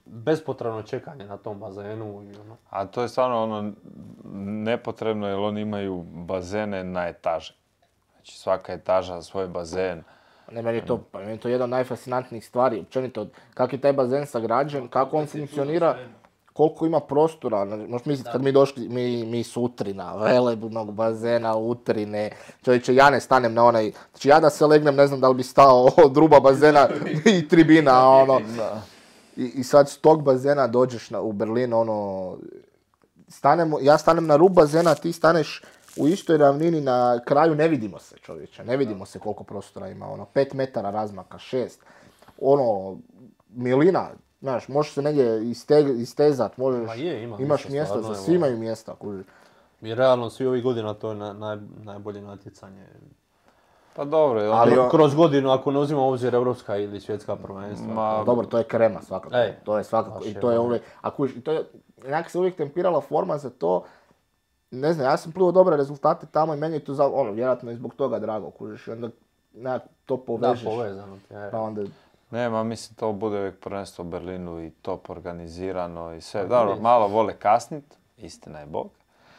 bespotrebno čekanje na tom bazenu. I ono. A to je stvarno ono nepotrebno jer oni imaju bazene na etaže. Znači svaka etaža za svoj bazen. Ne, meni je to, pa meni je to jedna od najfascinantnijih stvari, općenito, kako je taj bazen sagrađen, kako on funkcionira, koliko ima prostora. Možeš misliti kad mi došli, mi, mi s Utrina, velebnog bazena, Utrine, čovječe, ja ne stanem na onaj, znači ja da se legnem, ne znam da li bi stao od ruba bazena i tribina, ono. I, i sad s tog bazena dođeš na, u Berlin, ono, stanemo, ja stanem na rub bazena, ti staneš u istoj ravnini na kraju, ne vidimo se, čovječe, ne vidimo se koliko prostora ima, ono, pet metara razmaka, šest, ono, milina, znaš, možeš se negdje isteg, istezat, možeš, je, ima, imaš mjesta, stvarno, za svi imaju mjesta, kuži. I realno svi ovih godina to je na, naj, najbolje natjecanje. Pa dobro, ali on... kroz godinu, ako ne uzimamo obzir evropska ili svjetska prvenstva. Ma, dobro, to je krema svakako, Ej, to je svakako, i to je uvijek, a kuži, i to je, nekako se uvijek tempirala forma za to. Ne znam, ja sam plivao dobre rezultate tamo i meni je to, za, ono, vjerojatno i zbog toga drago, kužiš, i onda nekako to povežeš. Da, povezano ti je. Pa onda... Ne, ma mislim to bude uvijek prvenstvo u Berlinu i top organizirano i sve. Dobro, malo vole kasnit, istina je Bog.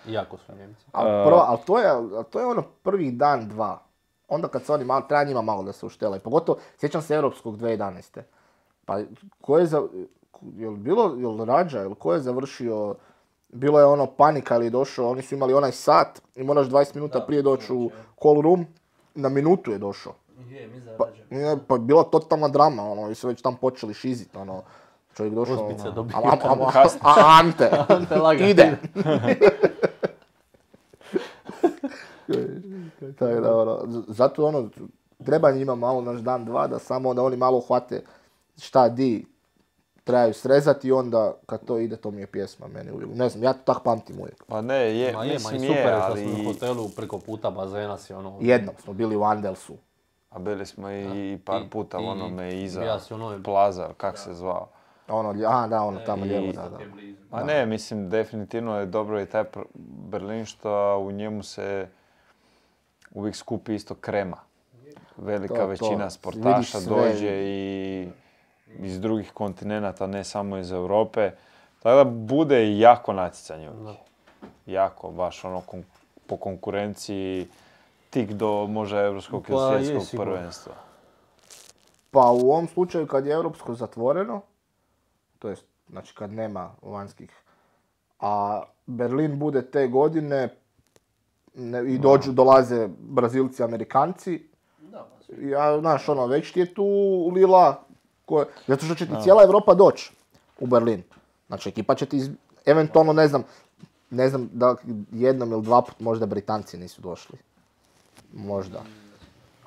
Iako su Njemci. Ali prvo, al to, al to je ono prvih dan, dva. Onda kad se oni malo, treba njima malo da se uštelaju. Pogotovo, sjećam se Europskog dvije tisuće jedanaeste. Pa ko je, za, je li bilo, je li Rađa, je li ko je završio... Bilo je ono panika ili je došao, oni su imali onaj sat i moraš dvadeset minuta da, prije doći u call room, na minutu je došao. Je, mi pa, je, pa bila totalna drama, ono, i su već tam počeli šiziti, ono, čovjek došao, ono, a, a, a, a, a Ante, Ante laga, ide. Tako da, ono, zato ono, treba njima malo naš dan, dva, da samo da oni malo uhvate šta di trebaju srezati i onda kad to ide, to mi je pjesma meni uvijek. Ne znam, ja to tak pamtim uvijek. Pa ne, je, ma je, mislim ma je, super, ali... Super, u hotelu preko puta bazena si ono... Jednom smo bili u Andelsu. A bili smo i par puta u onome iza ja ono... Plaza, kak se zvao. Ono, a da, ono tamo lijevo, da, da. Ma ne, mislim, definitivno je dobro i taj Berlin što u njemu se uvijek skupi isto krema. Velika to, većina to. sportaša dođe i iz drugih kontinenata, ne samo iz Europe. Tako da bude jako natjecanje. No. Jako, baš ono kon- po konkurenciji tik do možda europskog ili pa, svjetskog prvenstva. Pa u ovom slučaju kad je europsko zatvoreno, to jest znači kad nema vanjskih, a Berlin bude te godine ne, i dođu, dolaze Brazilci, Amerikanci, ja, znaš, ono, već ti je tu lila, koje, zato što će ti cijela Europa doći u Berlin. Znači, ekipa će ti, iz, eventualno, ne znam, ne znam da jednom ili dva put možda Britanci nisu došli. Možda.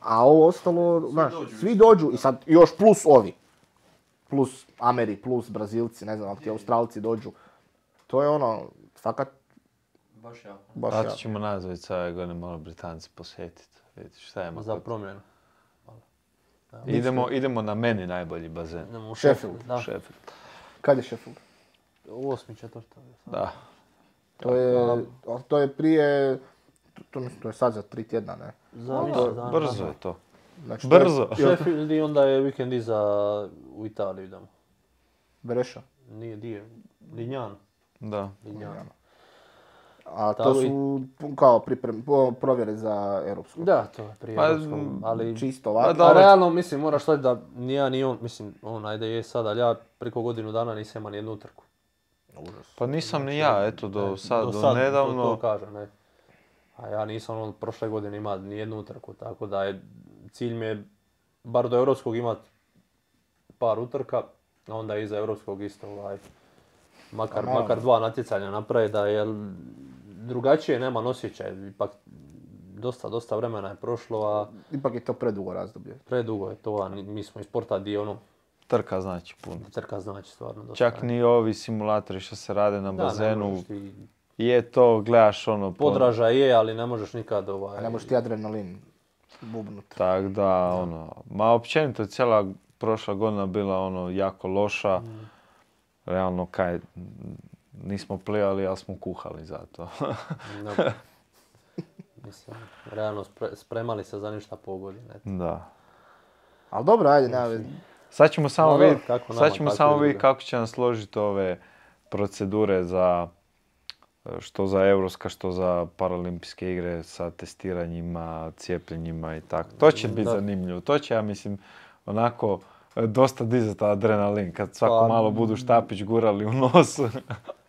A ovo ostalo, znaš, svi dođu i sad još plus ovi. Plus Ameri, plus Brazilci, ne znam, ako ti Australci dođu. To je ono, fakat... Baš jako. Baš jako. Ćemo nazvati sad ove godine malo Britanci posjetiti. Vidite šta je za promjenu. Idemo, idemo na meni najbolji bazen. Idemo u Sheffield. Da. Sheffield. Kad je Sheffield? Osmi, četvrta. Da. To je, to je prije, to, to je sad za tri tjedna, ne? Za to, dana, brzo je to. Znači, brzo. To je, Sheffield i onda je vikend iza u Italiju idemo. Breša? Nije, dio. Lignano. Da. Lignano. A to su kao priprem, provjere za europsko. Da, to je prije europsko, ali čisto ovako. Pa, a realno, mislim, moraš shvatiti da ni ja ni on, mislim, on ajde je sad, ali ja preko godinu dana nisam imao nijednu utrku. Užas. Pa nisam ni ja, eto, do ne, sad, do, do sad, nedavno. To, to kaže, ne. A ja nisam on prošle godine imao nijednu utrku, tako da je, cilj mi je bar do europskog imat par utrka, a onda iza europskog isto ovaj, makar, makar dva natjecanja napravi da je drugačije, nema osjećaj, ipak dosta, dosta vremena je prošlo, a... Ipak je to predugo razdoblje. Predugo je to, a mi smo iz sporta dio ono... Trka znači puno. Trka znači stvarno dosta. Čak ni ovi simulatori što se rade na da, bazenu, ti... je to, gledaš ono... Podraža je, ali ne možeš nikad ovaj... A ne možeš ti adrenalin bubnut. Tak da, da, ono... Ma općenito cijela prošla godina bila ono jako loša. Mm. realno kaj, nismo plivali, ali smo kuhali za to. No. Mislim, realno spre, spremali se za ništa pogodi. Da. Ali dobro, ajde, nema veze. Sad ćemo samo No, vidjeti kako nama, sad ćemo tako samo i vidjeti druga. kako će nam složiti ove procedure za što za Europska, što za Paralimpijske igre sa testiranjima, cijepljenjima i tako. To će biti Da. zanimljivo. To će, ja mislim, onako dosta dizati adrenalin kad svako Pa, malo budu štapić gurali u nos.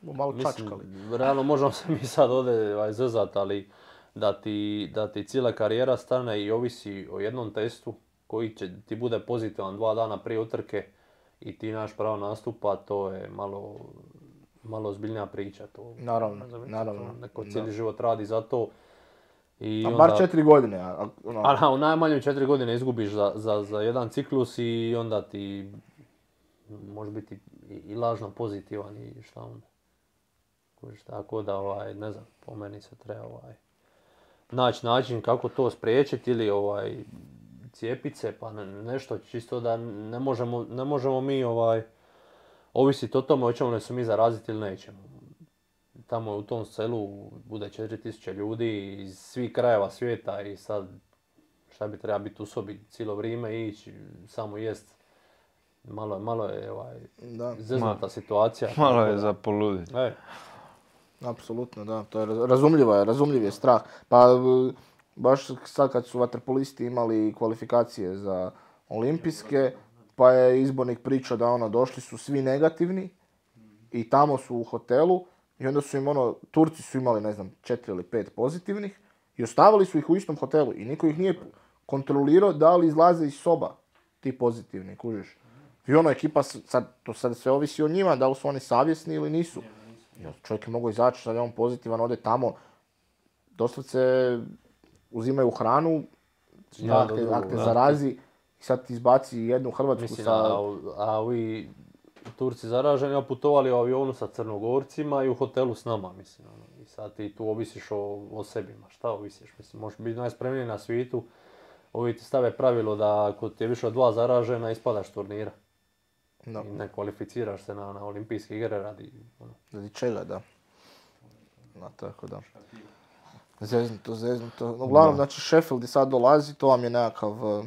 Malo čačkali. Mislim, realno možemo se mi sad ovdje ovaj, zezat, ali da ti, da ti cijela karijera stane i ovisi o jednom testu koji će ti bude pozitivan dva dana prije utrke i ti imaš pravo nastupa, to je malo, malo ozbiljnija priča. To, Naravno, razumijete, naravno, to neko da. cijeli život radi za to. I A onda, bar četiri godine. A, a, ono, a na, u najmanju četiri godine izgubiš za, za, za jedan ciklus i onda ti može biti i, i lažno pozitivan i šta onda. Kužiš, tako da, ovaj, ne znam, po meni se treba ovaj, naći način kako to spriječiti ili ovaj, cijepit se, pa ne, nešto čisto da ne možemo, ne možemo mi ovaj, ovisiti o tome hoćemo li se mi zaraziti ili nećemo. Tamo u tom selu bude četiri tisuće ljudi iz svih krajeva svijeta i sad šta bi treba biti u sobi cijelo vrijeme i ići samo jest. Malo, malo je ovaj, da, zeznuta situacija. Malo tako je da- za poluditi. E, apsolutno, da. To je raz- razumljivo je, razumljiv je strah. Pa e, baš sad kad su vaterpolisti imali kvalifikacije za olimpijske, pa je izbornik pričao da ono, došli su svi negativni i tamo su u hotelu i onda su im ono, Turci su imali, ne znam, četiri ili pet pozitivnih i ostavili su ih u istom hotelu i niko ih nije kontrolirao da li izlaze iz soba ti pozitivni, kužiš. I ono, ekipa, s- sad, to sad sve ovisi o njima, da li su oni savjesni ili nisu. I onda čovjek je mogao izaći, sad je on pozitivan, ode tamo, doslovce uzimaju hranu, Ja, ak do te, drugog, ak te da. zarazi i sad ti izbaci jednu Hrvatsku mislim, sa... a, a ovi Turci zaraženi, a putovali u avionu sa Crnogorcima i u hotelu s nama, mislim. Ono. I sad ti tu ovisiš o, o sebima. Šta ovisiš? Mislim, možeš biti najspremniji na svijetu. Ovi ti stave pravilo da ako ti je više od dva zaražena, ispadaš s turnira. No, I ne kvalificiraš se na, na olimpijske igre radi. Ono. radi čega, da. No, tako da. Zeznuto, zeznuto. Uglavnom, znači, Sheffield i sad dolazi, to vam je nekakav, eh,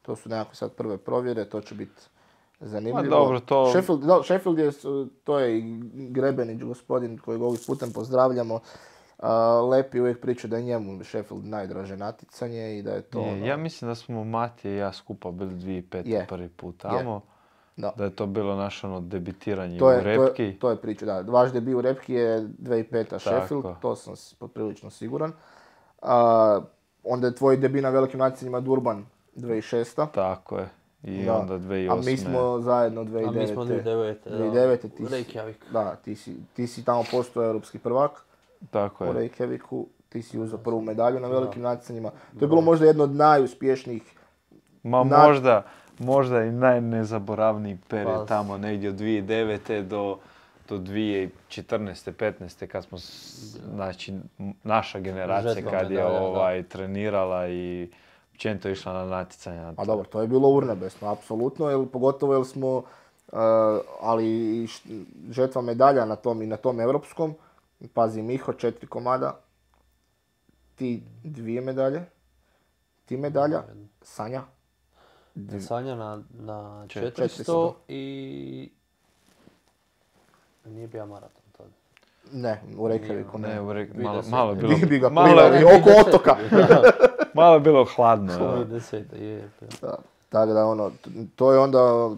to su nekakve sad prve provjere, to će biti zanimljivo. Ma dobro, to- Sheffield, da, Sheffield je, s- to je i Grebenić, gospodin kojeg ovim putem pozdravljamo, a, Lepi uvijek priča da je njemu Sheffield najdraže natjecanje i da je to Je, ono, ja mislim da smo Matija i ja skupa bili dvije tisuće pete Je. prvi put tamo. da. Da je to bilo naše ono debitiranje To je, u to, je, repki. to je priča, da. Vaš debut u repki je dvije tisuće peta Sheffield, Tako. to sam s- poprilično siguran. A, onda je tvoj debut na velikim natjecanjima Durban dvije tisuće šesta. Tako je. I Da. onda dvije A tisuće osme. mi smo zajedno A dvije tisuće mi smo devete. dvije tisuće devete. dvije tisuće devete ti si, Reykjavik. da, ti si, ti si tamo postao europski prvak Tako u je. Reykjaviku. Ti si uzeo prvu medalju na velikim natjecanjima. To je bilo možda jedno od najuspješnijih. Ma Na- možda, možda i najnezaboravniji period Pa, tamo negdje od dvije tisuće devete do, do dvije tisuće četrnaeste petnaeste kad smo, s- znači, m- naša generacija Žetva kad je medalja, da. ovaj, trenirala i općenito išla na natjecanja. A dobro, to je bilo urnebesno, apsolutno, jer, pogotovo jer smo, uh, ali i š- žetva medalja na tom i na tom europskom. Pazi, Miho, četiri komada, ti dvije medalje, ti medalja, Sanja, dv- Sanja na, na Čet- četiristo i nije bio maraton tada. ne, u Reykjaviku Ne, ne. u Rek- dvije malo, desete. malo je bilo, Bi, bi ga malo, plivali je- oko otoka. malo je bilo hladno. dvije evo. desete je. Da, tako da ono, t- to je onda,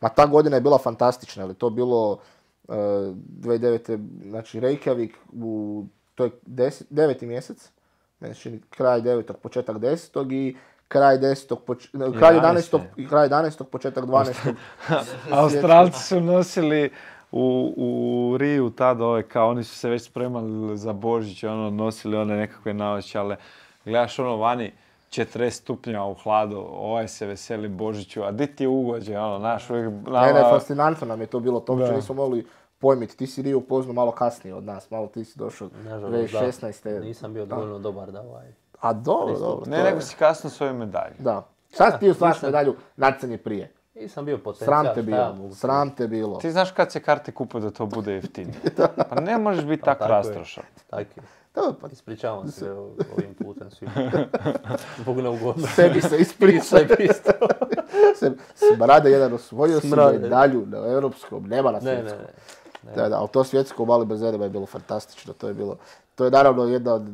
ma ta godina je bila fantastična, ali to je bilo uh, dvije tisuće devete. Znači Reykjavik u, to je deset, deveti mjesec, meni se čini kraj devetog, početak desetog i kraj desetog, poč, ne, kraj jedanaestog, i kraj jedanaestog, početak dvanaestog. Australci su nosili u, u Riju tada ove, kao oni su se već spremali za Božić, ono, nosili one nekakve naočale. Gledaš ono vani, četrdeset stupnja u hladu, ovaj se veseli Božiću, a di ti je ugođe, ono, naš uvijek... Ne, ne, fascinantno nam je to bilo, to uopće Da. nismo mogli pojmiti. Ti si Riju upoznao malo kasnije od nas, malo ti si došao Nažalost, dvije da. tisuće šesnaeste. Nisam bio Da. dovoljno dobar da ovaj... A dobro, Pristup. dobro. Ne, to je- nego si kasno svoju medalju. Da. Sad ti osvajaš nisam- medalju, natjecanje prije. nisam bio potencijal. Sram te šta ja bilo, mogu sram te bilo. Ti znaš kad se karte kupuju da to bude jeftinije. Pa ne možeš biti tak tako je. rastrošan. Tako je. To, pa, Ispričavam se o- ovim putem svima. Zbog neugodnosti. sebi se ispriča. Sebi isto. Se- Smrade jedan osvojio si Smrade. medalju na europskom, nema na Ne, ne, svjetskom. ne. Da, da, ali to svjetsko u Mali bez Zerba je bilo fantastično, to je bilo, to je naravno jedna od,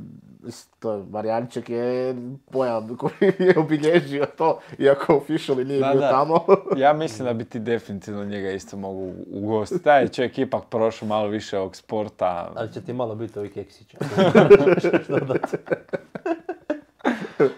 to je, Marijanček je pojam koji je obilježio to, iako officially nije Da, bio da. tamo. Ja mislim da bi ti definitivno njega isto mogu ugostiti. Taj je čovjek ipak prošao malo više ovog sporta. Ali će ti malo biti ovih keksića.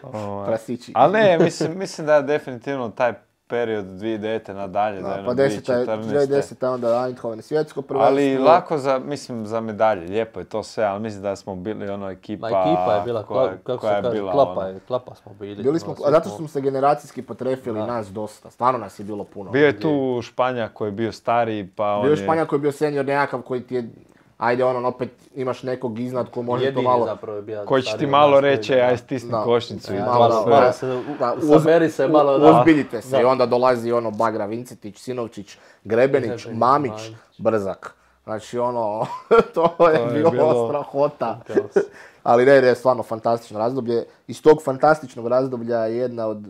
Ovaj. Prasići. Ali ne, mislim, mislim da je definitivno taj period dvije tisuće desete nadalje, da, Da, je pa ono deseta, dvije tisuće dvije četrnaeste. deseta onda Eindhoven svjetsko prvenstvo. Ali lako za, mislim, za medalje, lijepo je to sve, ali mislim da smo bili ono ekipa, Ma ekipa je bila, koja, kla- kako koja se kaže, bila klapa, ono. je, klapa smo bili. Bili smo, ono, a zato svi smo se generacijski potrefili Da. nas dosta, stvarno nas je bilo puno. Bio je tu Španjak koji je bio stariji, pa on Bio je je... Španjak koji je bio senior nekakav koji ti je, ajde ono, opet imaš nekog iznad ko može jedini to malo... zapravo je bio Koji će stariji ti od malo nas, koji- reći, da. aj stisni Da. košnicu i Da, to Malo, sve. malo se, u, Da, u, saberi se malo, u- da. Uzbiljite se Da. i onda dolazi ono Bagra Vincetić, Sinovčić, Grebenić, Grebenić, Mamić, Mamić. Brzak. Znači ono, to je je bilo, bilo- strahota. Kaos. Ali ne, ne, stvarno fantastično razdoblje. Iz tog fantastičnog razdoblja je jedna od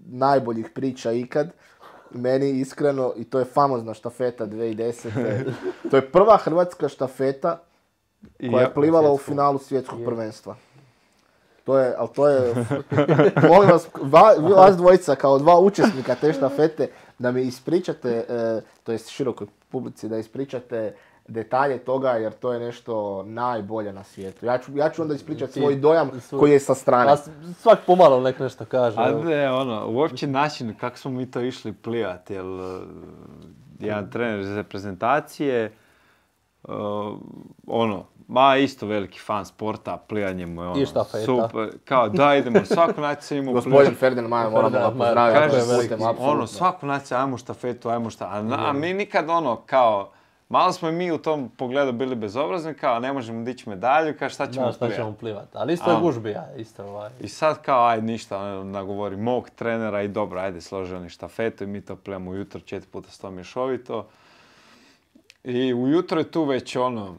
najboljih priča ikad. Meni iskreno, i to je famozna štafeta dvije tisuće desete. To je prva hrvatska štafeta I koja ja- je plivala u svjetskog. finalu svjetskog prvenstva. To je, ali to je, molim vas, va, vi vas dvojica kao dva učesnika te štafete, da mi ispričate, e, to jest širokoj publici, da ispričate detalje toga, jer to je nešto najbolje na svijetu. Ja ću, ja ću onda ispričati Ti- svoj dojam svoj- koji je sa strane. A s- svak pomalo nek nešto kaže. A evo. ne, ono, uopće način kako smo mi to išli plivati, jer uh, jedan trener iz reprezentacije, uh, ono, ma isto veliki fan sporta, plivanje mu je ono, I štafeta. super, kao da idemo, svaku naciju imamo Gospodin Ferdinand Maja, moramo ga Ferdinand Maja, pozdraviti. kaže ovim se, putem, apsolutno. ono, svaku naciju, ajmo štafetu, ajmo šta, a, na- a mi nikad ono, kao, malo smo i mi u tom pogledu bili bezobrazni, kao ne možemo dići medalju, kao šta ćemo Da, šta plivati. ćemo plivati. Ali isto je A. gužbija, isto ovaj. I sad kao, aj ništa, ono, nagovori mog trenera i dobro, ajde složi oni štafetu i mi to plivamo ujutro četiri puta sto mješovito. I ujutro je tu već ono,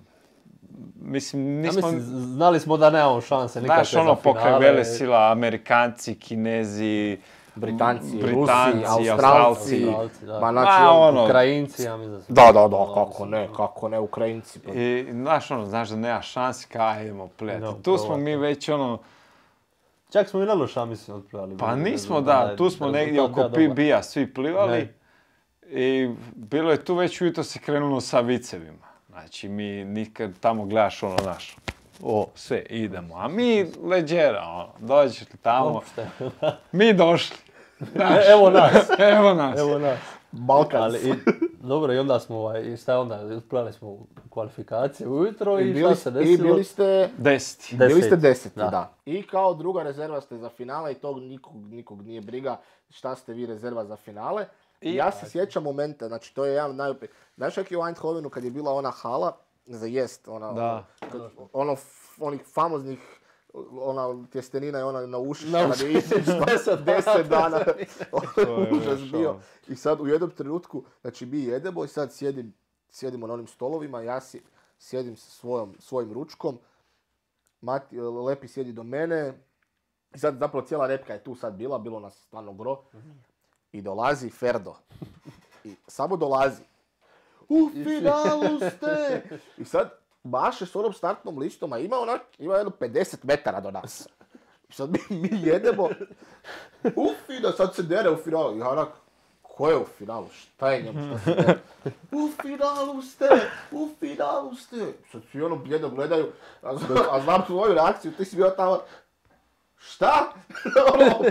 mislim, Ja nismo, mislim, znali smo da nemamo šanse nikakve znaš ono za pokraj finale. vele sila, Amerikanci, Kinezi, Britanci, Britanci, Rusi, Australci. Australci. Australci, da. Ma, znači, Ma, on- ono, Ukrajinci, ja mislim da su... Da, da, da, kako ne, kako ne, Ukrajinci. Pa. I znaš ono, znaš da nema šansi, kao aj, idemo plivati. No, Tu smo probati. mi već ono, Čak smo i na loša, mislim, otplivali. pa Bez- nismo bez- da, je tu smo rezultat negdje bio oko dobar. P B-a svi plivali. Ne. I bilo je tu već ujutro se krenulo sa vicevima. Znači mi nikad tamo gledaš ono naš, o, sve, idemo. A mi leđera, ono, dođeš li tamo, Uopšte. mi došli. Znaš, E, evo nas. evo nas. Evo nas. Balkans. Ali, i, dobro, i onda smo, ovaj, i šta je onda, otplivali smo u kvalifikaciju ujutro i, I šta bili, se I desilo? bili ste, Deseti. Deset. bili ste deseti, da. Da. I kao druga rezerva ste za finale i tog nikog, nikog nije briga šta ste vi rezerva za finale. I ja se sjećam momenta, znači to je jedan od najopet... Znaš kak je u Eindhovenu kad je bila ona hala za jest, ona, Da. kad- ono, f- onih famoznih, ona tjestenina je ona na uši, Na kad je uši, izišla deset deset dana. To je Užas baš bio. ono. I sad u jednom trenutku, znači mi jedemo i sad sjedim, sjedimo na onim stolovima, ja si, sjedim sa svojom, svojim ručkom, Mati, Lepi sjedi do mene, i sad zapravo cijela repka je tu sad bila, bilo nas stvarno gro, i dolazi Ferdo. I samo dolazi. U finalu ste! I sad maše s onom startnom listom, a ima onak, ima jedno pedeset metara do nas. I sad mi, mi jedemo, u finalu, sad se dere u finalu. I ja onak, ko je u finalu? Šta je njemu što se dere? U finalu ste! U finalu ste! Sad svi ono bljedo gledaju, a, z- a znam tvoju reakciju, ti si bio tamo, šta? Ono,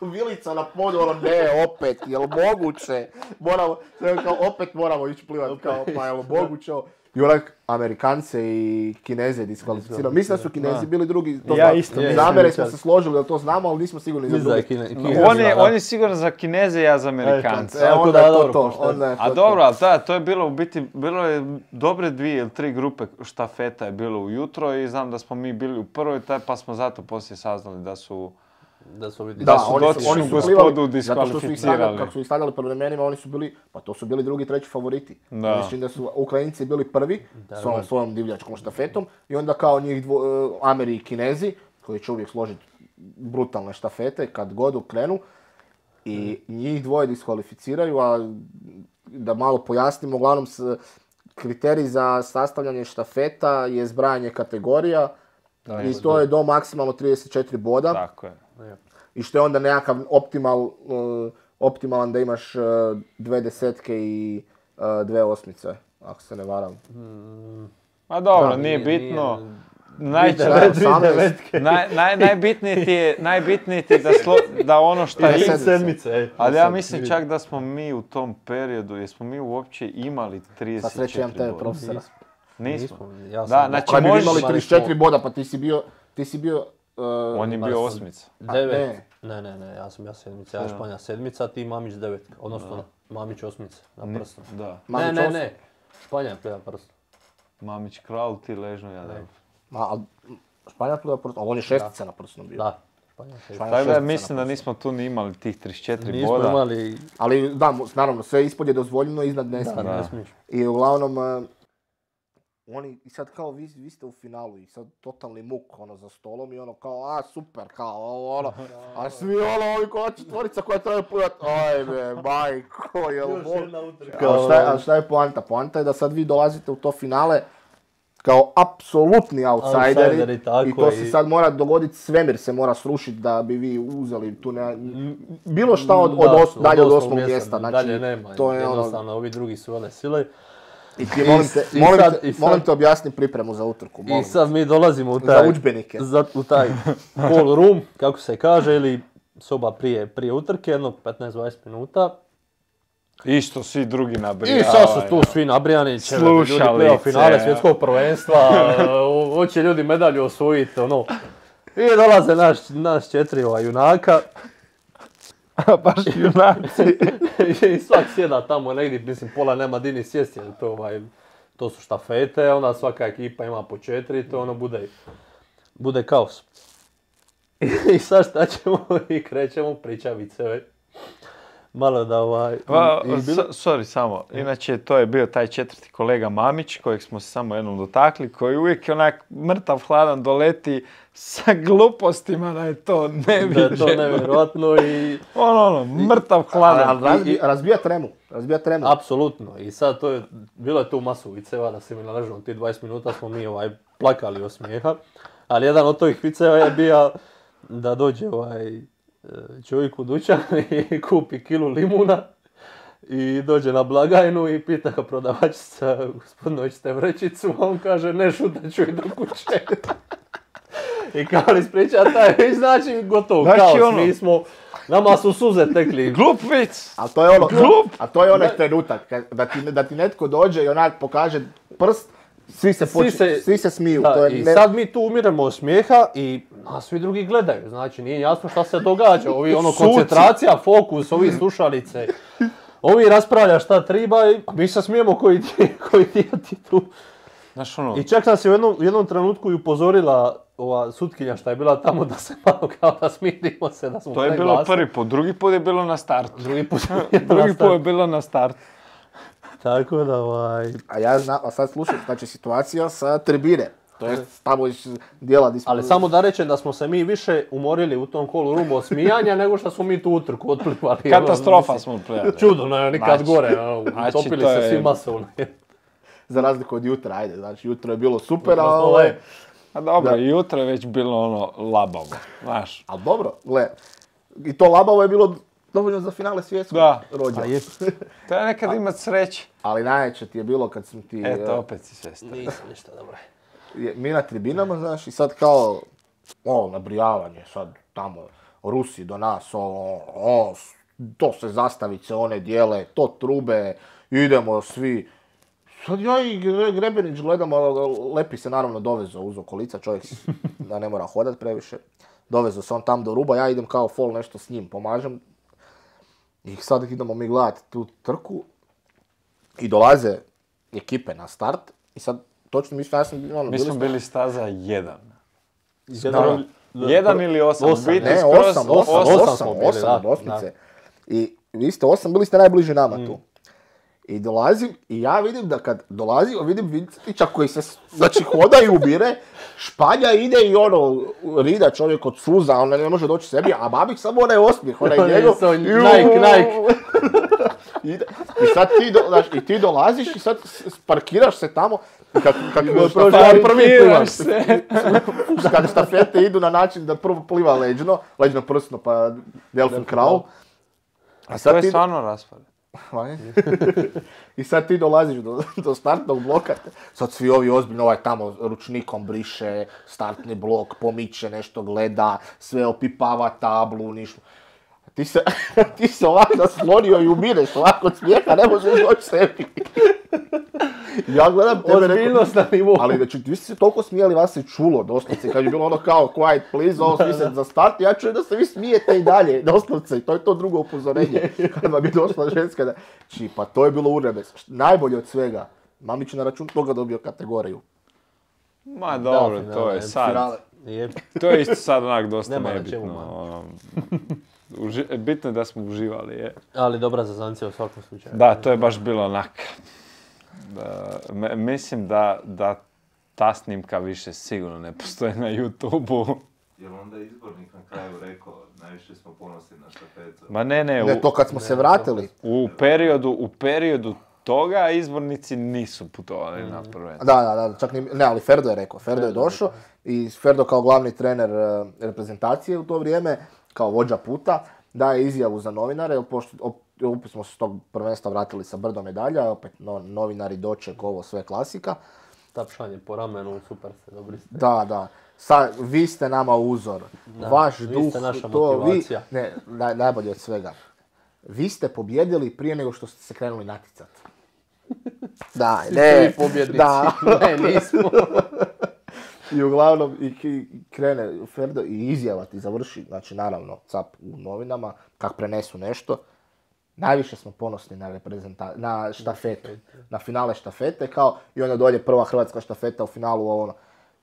Vilica na podu, ono, ne, opet, jel moguće? Moramo, kao, opet moramo ići plivati, kao, pa jel moguće? I onak, Amerikance i Kineze diskvalificirao. Mislim da su Kinezi bili drugi, to Ja znam. isto mislim. Zamere Je, smo je. se složili da to znamo, ali nismo sigurni za Mislim da je drugi. Kine, Kine, On je, da. on je sigurno za Kineze, ja za Amerikance. E, Tako onda da, je to dobro, to. pošteno. Onda je A to dobro, to. ali da, to je bilo u biti, bilo je dobre dvije ili tri grupe štafeta je bilo ujutro i znam da smo mi bili u prvoj, taj, pa smo zato poslije saznali da su Da su ovi Da, su oni su, dotičnu oni su gospodu plivali, zato što su ih stavljali, diskvalificirali. kako su ih stavljali po vremenima, oni su bili, pa to su bili drugi, treći favoriti. Da. Mislim da su Ukrajinci bili prvi Da, s ovom da. svojom divljačkom štafetom i onda kao njih dvo, e, Ameri i Kinezi, koji će uvijek složiti brutalne štafete kad god krenu, i njih dvoje diskvalificiraju, a da malo pojasnimo, uglavnom s, kriterij za sastavljanje štafeta je zbrajanje kategorija Da, i to je do maksimalno trideset četiri boda. Tako je. I što je onda nekakav optimal, uh, optimalan da imaš uh, dve desetke i uh, dve osmice, ako se ne varam. Ma dobro, Da, nije nije- bitno. nije- Najče- Dvije devet- dvije osamnaest. devetke. naj, naj, najbitnije ti je, najbitnije ti je da, slo, da ono što I je... sedmice. sedmice, ej. Ali ja Sad mislim vidim. čak da smo mi u tom periodu, jesmo mi uopće imali Sa trideset sreće imam četiri tebe boda? profesora. Nismo. Ja Da, sam znači Kad bi možeš- imali imali trideset četiri smo- boda, pa ti si bio, ti si bio, uh, On je bio Imali smo osmica. Devet. Ne, ne, ne, ja sam ja sedmica, ja Da. Španja sedmica, ti Mamić devetka, odnosno Mamić osmica na Ni- prstom. Da. Ne, Mamić ne, osam. ne, Španja je pleva prstom. Mamić kralj, ti ležno, ja da. Ma, ali Španjak tu je prst, ali on je šestica na prsnom bio. Da, Španja šestica. Španja Tako da šestica mislim na da nismo tu ni imali tih trideset četiri Nismo boda. imali, Ali da, mo- naravno, sve ispod je dozvoljeno, iznad ne da, smije. ne Da. smiješ. I uglavnom, uh, oni, i sad kao vi, vi ste u finalu i sad totalni muk ono za stolom i ono kao, a super, kao ovo ono, a svi ono, ovi koja četvorica koja treba plivati, ajme, majko, jel mo... Ali šta, je- ali šta je poanta? Poanta je da sad vi dolazite u to finale kao apsolutni outsideri, Outsideri, tako i to je. se sad mora dogoditi, svemir se mora srušiti da bi vi uzeli tu ne, bilo šta od, od Da, os, dalje od osmog mjesta, znači dalje nema, to je ono, jednostavno, ovi drugi su vele sile. i ti molim te, i molim sad- te, i sad- molim te objasni pripremu za utrku, molim I sad mi dolazimo u za taj, udžbenike. za, u taj call room, kako se kaže, ili soba prije, prije utrke, jedno petnaest do dvadeset minuta. Isto svi drugi nabrijavaju. I sad su tu svi nabrijani, će ljudi Slušalice. play-off finale svjetskog prvenstva, uh, hoće ljudi medalju osvojiti, ono. I dolaze naš, naš četiri ova junaka Baš junaci. i svak sjeda tamo negdje, mislim pola nema di ni sjesti, jer to, ovaj, to su štafete, onda svaka ekipa ima po četiri, to ono bude, bude kaos. I sad šta ćemo i krećemo pričavice, već. Malo da ovaj... Pa, i bilo- so- sorry, samo. Inače, to je bio taj četvrti kolega Mamić, kojeg smo se samo jednom dotakli, koji uvijek onak mrtav hladan doleti sa glupostima da je to da je neviđeno. to nevjerojatno i... Ono, ono, mrtav Ali, hladan. ali razbi, razbija tremu, razbija tremu. Apsolutno. I sad to je, bilo je tu masu viceva da se mi naležno ti dvadeset minuta smo mi ovaj plakali od smijeha. Ali jedan od tih viceva je bio da dođe ovaj čovjek u dućan i kupi kilu limuna i dođe na blagajnu i pita ga prodavačica, gospodine, hoćete vrećicu? A on kaže, ne, šutat ću i do kuće. I kao li ispriča taj vic, znači gotovo, Znači kao ono- mi smo, nama su suze tekli. Glup vic! A to je ono, Glup! a to je onaj trenutak kad- da ti, da ti netko dođe i onak pokaže prst, svi se, Svi poč- se- svi se smiju. Da, to je i ne- sad mi tu umiremo od smijeha i nas svi drugi gledaju, znači nije jasno šta se događa, ovi ono Suci. koncentracija, fokus, ovi slušalice, ovi raspravlja šta treba i mi se smijemo koji ti, koji ti, ti tu. Znaš ono, I čak nas je u jednom, u jednom trenutku i upozorila ova sutkinja šta je bila tamo da se malo kao da smirimo se, da smo to je bilo preglasni. prvi put, drugi put je bilo na startu. Drugi put Drugi put je bilo na startu. Tako da ovaj... A ja znam, a sad slušaj, znači situacija sa tribine. To je tamo iz dijela di smo... Ali samo da rečem da smo se mi više umorili u tom kolu rumu od smijanja nego što smo mi tu utrku otplivali. Katastrofa Ono, smo prijeli. čudo, ne, nikad Znači, gore, ono, znači, utopili to se je- svi masovno. Za razliku od jutra, ajde, znači jutro je bilo super, a Odnosno, ovaj... ovaj, A dobro, Da. jutro je već bilo ono labavo, znaš. Ali dobro, gle, i to labavo je bilo dovoljno za finale svjetskog Da. rođa. Pa je. To je nekad imat sreće. Ali najveće ti je bilo kad sam ti... Eto, eh, opet si sestra. Nisam ništa dobro. je- mi na tribinama, znaš, i sad kao, o, nabrijavanje, sad tamo, Rusi do nas, o, o, s- to se zastavice one dijele, to trube, idemo svi. Sad ja i Gre- Grebenić gledam, a Lepi se naravno dovezo uz okolica, čovjek s- da ne mora hodat previše. Dovezo se on tam do ruba, ja idem kao fol nešto s njim, pomažem. I sad idemo mi gledat tu trku i dolaze ekipe na start i sad točno mislim, ja sam ono, Mi bili smo smo- bili staza jedan. General, Jedan ili osam? Osam, Biti Ne, skroz osam, osam, osam osam, smo bili, osam, da, doslovce. I vi ste osam, bili ste najbliži nama Mm. tu. I dolazim, i ja vidim da kad dolazim, vidim Vincetića koji se, znači, hoda i ubire, španja ide i ono, rida čovjek od suza, on ne može doći sebi, a Babić samo onaj osmijeh, onaj Onaj njegov. so- Juuu. Nike, Nike. Ide. I sad ti, do, znaš, i ti dolaziš i sad s- parkiraš se tamo, i kad, kad, prošao štafete- prvi plivaš se. kad štafete idu na način da prvo pliva leđno, leđno prsno pa Delfin Kraul. A To sad je ti, stvarno raspad. I sad ti dolaziš do, do startnog bloka, sad svi ovi ozbiljno, ovaj tamo ručnikom briše startni blok, pomiče, nešto gleda, sve opipava tablu, ništa. Ti se, ti se ovako naslonio i umireš ovako od smijeha, ne možeš doći sebi. Ja gledam tebe, rekao, Ozbiljnost na nivou. ali znači, vi ste se toliko smijali, vas se čulo doslovce, kad je bilo ono kao quiet please, ovo svi se za start, ja čujem da se vi smijete i dalje, doslovce, i to je to drugo upozorenje, kad vam je došla ženska da, či, pa to je bilo urebes, najbolje od svega, Mamić je na račun toga dobio kategoriju. Ma dobro, Da, to je finale, sad. Finale. Je. To je isto sad onak dosta Nema na čemu, nebitno. man. ono. Uži- Bitno je da smo uživali, je. Ali dobra zazancija u svakom slučaju. Da, to je baš bilo onak. Da, me- mislim da, da ta snimka više sigurno ne postoji na YouTubeu. Jel onda izbornik na kraju rekao, najviše smo ponosni na štafetu? Ma ne, ne, Ne, u, to kad smo se vratili. u periodu, u periodu toga izbornici nisu putovali na prvenstvo. Da, da, da, čak ni, ne, ali Ferdo je rekao, Ferdo je došao i Ferdo kao glavni trener eh, reprezentacije u to vrijeme, kao vođa puta, daje izjavu za novinare, jer pošto op- opet smo se s tog prvenstva vratili sa brdo medalja, opet no, novinari, doček, ovo sve klasika. Tapšanje po ramenu, super ste, dobri ste. Da, da. Sa, vi ste nama uzor. Da, Vaš vi duh, ste naša to vi, motivacija. ne, naj, najbolje od svega. Vi ste pobjedili prije nego što ste se krenuli naticati. Da, Svi ne, ste vi pobjednici. da. Ne, nismo. I uglavnom i, i krene Ferdo i izjava ti završi, znači naravno cap u novinama, kak prenesu nešto. Najviše smo ponosni na, reprezenta- na štafetu, na finale štafete, kao i onda dolje prva hrvatska štafeta u finalu, ovo ono.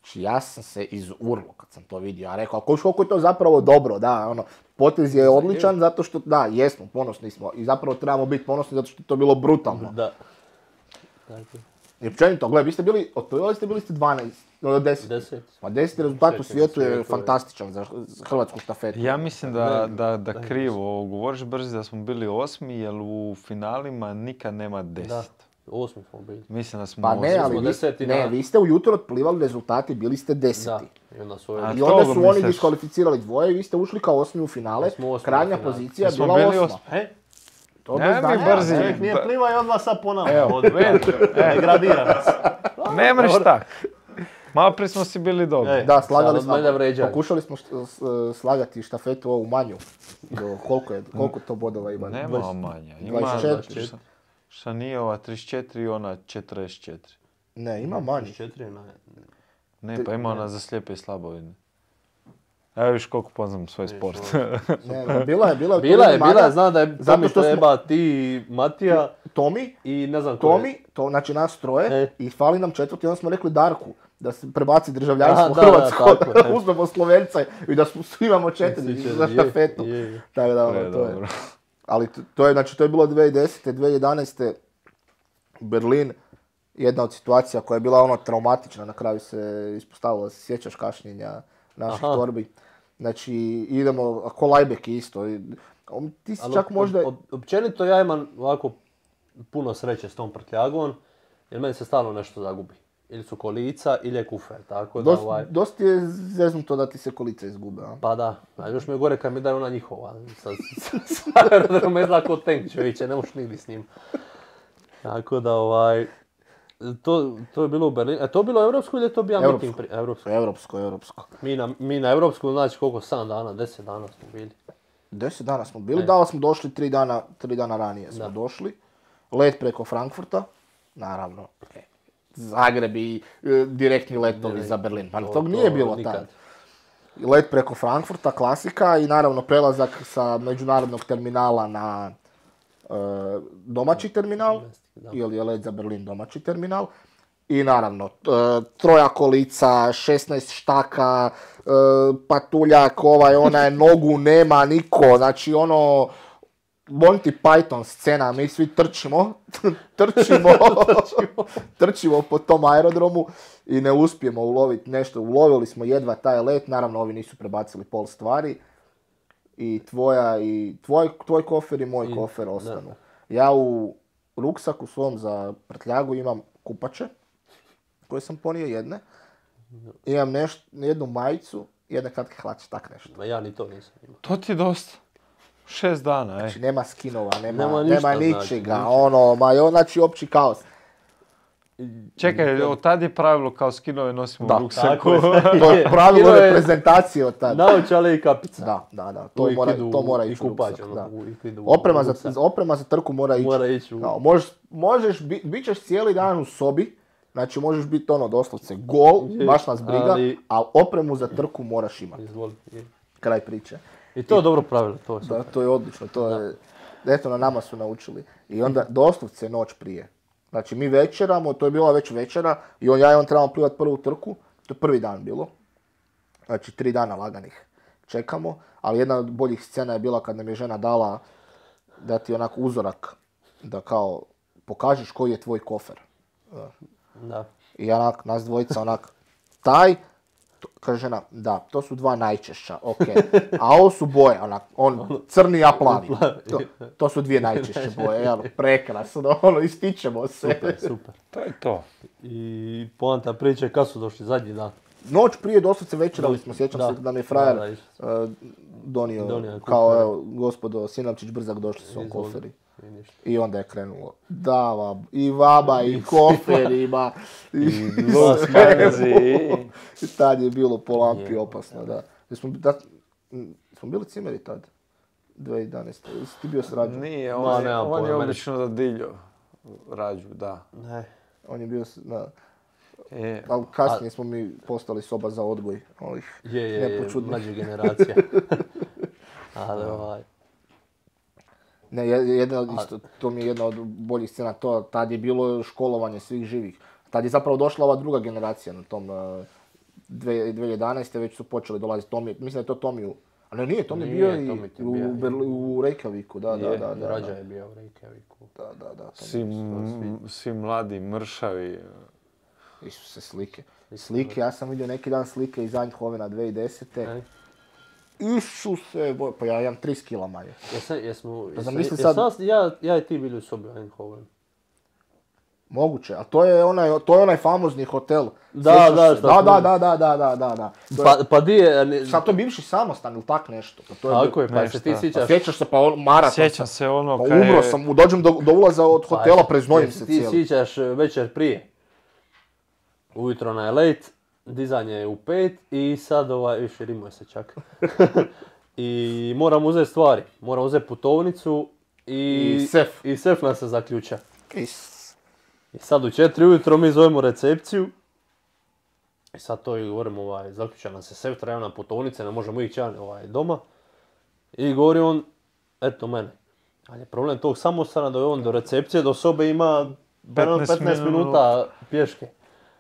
Znači ja sam se izurlo kad sam to vidio, a rekao, koliko koliko je to zapravo dobro, da, ono, potez je odličan zato što, da, jesmo, ponosni smo i zapravo trebamo biti ponosni zato što je to bilo brutalno. Da. Tako. I općenito, gledaj, vi ste bili, otprilike ste bili ste dvanaest, od deset. Deset. Ma deseti rezultat u Deset svijetu je svijetu je- fantastičan za za hrvatsku štafetu. Ja mislim da, Ne, da, da da, krivo govoriš brzi da smo bili osmi, jer u finalima nikad nema Da. deset. Osmi smo bili. Mislim da smo Pa ne, osmi. ali smo vi, deseti ne, na- vi ste ujutro otplivali rezultati, bili ste Da. deseti. I onda su A ovi- I to onda ga su oni misliš? diskvalificirali dvoje i vi ste ušli kao osmi u finale. Da smo osmi u Krajnja finale. pozicija je Jesmo bila bili osma. osmi? E, To Ne bez mi znanja, brzi. ne. čovjek nije Da. pliva i odmah sad ponavlja. Evo, Od degradira nas. Ne mreš tak. Malo prije smo si bili dobri. Ej. Da, slagali Sad od mene smo, vređaju. pokušali smo št- s- slagati štafetu ovu manju. Do koliko, je, koliko to bodova ima? Nema manja. Ima dvadeset četiri. šta- šta nije ova trideset četiri i ona četrdeset četiri. Ne, ima manji. Četiri na... Ne, pa ima ona za slijepe i slabovidne. Evo viš koliko poznam svoj sport. Ne, ne, bila je, bila je. Bila je, Tomi bila je, manja. znam da je Zato Tomi što smo- treba, ti, Matija Tomi, i ne znam ko je. Tomi, to znači nas troje, E. i fali nam četvrti, onda smo rekli Darku, da se prebaci državljanstvo Aha, u da, da, Hrvatsko, tako je. uzmemo Slovenca i da smo, svi imamo četiri Svi će- za je, štafetu. je, je. Tako da, ono, Pre, to je. dobro. Ali to, to je, znači, to je bilo dvije tisuće desete. dvije tisuće jedanaeste. Berlin, jedna od situacija koja je bila ono traumatična, na kraju se ispostavilo, se sjećaš kašnjenja naših Aha. torbi. Znači, idemo, ko Lajbek isto. i- on- Ti si Ali čak op- možda... op- općenito ja imam ovako puno sreće s tom prtljagom, jer meni se stalno nešto zagubi. Ili su kolica, ili je kufer, tako da Dost, ovaj... dosta je zeznuto da ti se kolica izgube, a? Pa da, a još mi je gore kad mi daju ona njihova. Sa, sa, sa aerodroma izgleda kao tank čovječe, ne možeš nigdje s njim. Tako da ovaj... To, to je bilo u Berlinu. E to je bilo europsko ili je to bio Europsko. meeting? Pri... Europsko. Europsko, europsko. Mi na, mi na europsku, znači koliko, sedam dana, deset dana smo bili. Deset dana smo bili, E. da li smo došli tri dana, tri dana ranije smo Da. došli. Let preko Frankfurta, naravno. e, Zagreb i e, direktni letovi Direkt. za Berlin. Pa To- tog to nije bilo nikad. tad. Let preko Frankfurta, klasika i naravno prelazak sa međunarodnog terminala na e, domaći terminal, Da. ili je let za Berlin domaći terminal. I naravno, troja kolica, šesnaest štaka, patuljak, ovaj, onaj, nogu nema niko, znači ono, Monty Python scena, mi svi trčimo, trčimo, trčimo po tom aerodromu i ne uspijemo uloviti nešto. Ulovili smo jedva taj let, naravno ovi nisu prebacili pol stvari i tvoja i tvoj, tvoj kofer i moj I, kofer ostanu. Da. Ja u ruksaku svom za prtljagu imam kupače koje sam ponio jedne, imam nešto, jednu majicu, jedne kratke hlače, tak nešto. Ma ja ni to nisam imao. To ti je dosta. Šest dana, ej. Znači, nema skinova, nema, nema, ništa, nema ničega, znači, ono, ma jo, znači, opći kaos. Čekaj, od tad je pravilo kao skinove nosimo da, u ruksaku. To je pravilo reprezentacije od tada. Naočale i kapica. Da, da, da, to, mora, idu, to mora i ići kupać, u ruksak. ono, Da. u, Oprema, za, oprema za trku mora ići. Mora ići u... Kao, možeš, možeš bi, bit ćeš cijeli dan u sobi, znači možeš biti ono doslovce gol, je, baš nas briga, ali a opremu za trku moraš imati. Izvoli. Kraj priče. I to je dobro pravilo, to je super. Da, to je odlično, to je, eto na nama su naučili. I onda doslovce noć prije. Znači mi večeramo, to je bila već večera i on, ja i on trebamo plivati prvu trku, to je prvi dan bilo. Znači tri dana laganih čekamo, ali jedna od boljih scena je bila kad nam je žena dala da ti onako uzorak, da kao pokažeš koji je tvoj kofer. Da. I onak, nas dvojica onak, taj, to, kaže žena, da, to su dva najčešća, ok. A ovo su boje, onak, on crni, a plavi. To, to su dvije najčešće boje, jel, prekrasno, ono, ističemo se. Super, super. To je to. I poanta priče, kad su došli zadnji dan? Noć prije doslovce večerali smo, sjećam da, se da mi je frajer da, da, uh, donio, donio kao evo, gospodo Sinavčić Brzak, došli su on koferi. I onda je krenulo. Da, vab, i vaba, i koferima, i sve. I tad je bilo po lampi opasno, da. Smo, da, smo bili cimeri tad, dvije tisuće jedanaeste. Jesi ti bio s Rađom? Nije, on, je, on je obično da diljo Rađu, da. Ne. On je bio, da. Je. Ali kasnije smo mi postali soba za odgoj ovih je, je, je, nepočudnih. mlađe generacija. Ali ovaj... Ne, jedna, isto, to mi je jedna od boljih scena, to, tad je bilo školovanje svih živih. Tad je zapravo došla ova druga generacija na tom uh, dvije tisuće jedanaeste. Već su počeli dolaziti Tomi, mislim da je to Tomiju, ali nije, Tomi je bio i u, Berli, u Reykjaviku, da, da, da, da. Rađa je bio u Reykjaviku. Da, da, da. Svi, svi mladi, mršavi. Isuse, slike. Slike, ja sam vidio neki dan slike iz Eindhovena dvije tisuće desete. Isuse, boj, pa ja imam tri kila manje. Jesam, jesmo, Pa jesam, jesam, sad... jesam, ja, ja i ti bili u sobi u Eindhovenu. Moguće, a to je onaj, to je onaj famozni hotel. Da, da, da, da, da, da, da, da, da, da. Pa, pa di je... Ne... Sad to je bivši samostan ili tak nešto. Pa to je tako je, pa nešto. Se ti sjećaš... Pa sjećaš se, pa on, maraton. Sjećam se ono pa umro sam, dođem do, do ulaza od hotela, pa, preznojim se cijeli. Ti sjećaš večer prije. Ujutro na late, dizanje je u pet i sad ovaj, više rimuje se čak. I moram uzeti stvari, moram uzeti putovnicu i, I sef. I sef nam se zaključa. Is. I sad u četiri ujutro mi zovemo recepciju. I sad to i govorimo, ovaj, zaključa nam se sef, treba nam putovnice, ne možemo ići ovaj, doma. I govori on, eto mene. Ali je problem tog samostana da je on do recepcije, do sobe ima petnaest minuta pješke.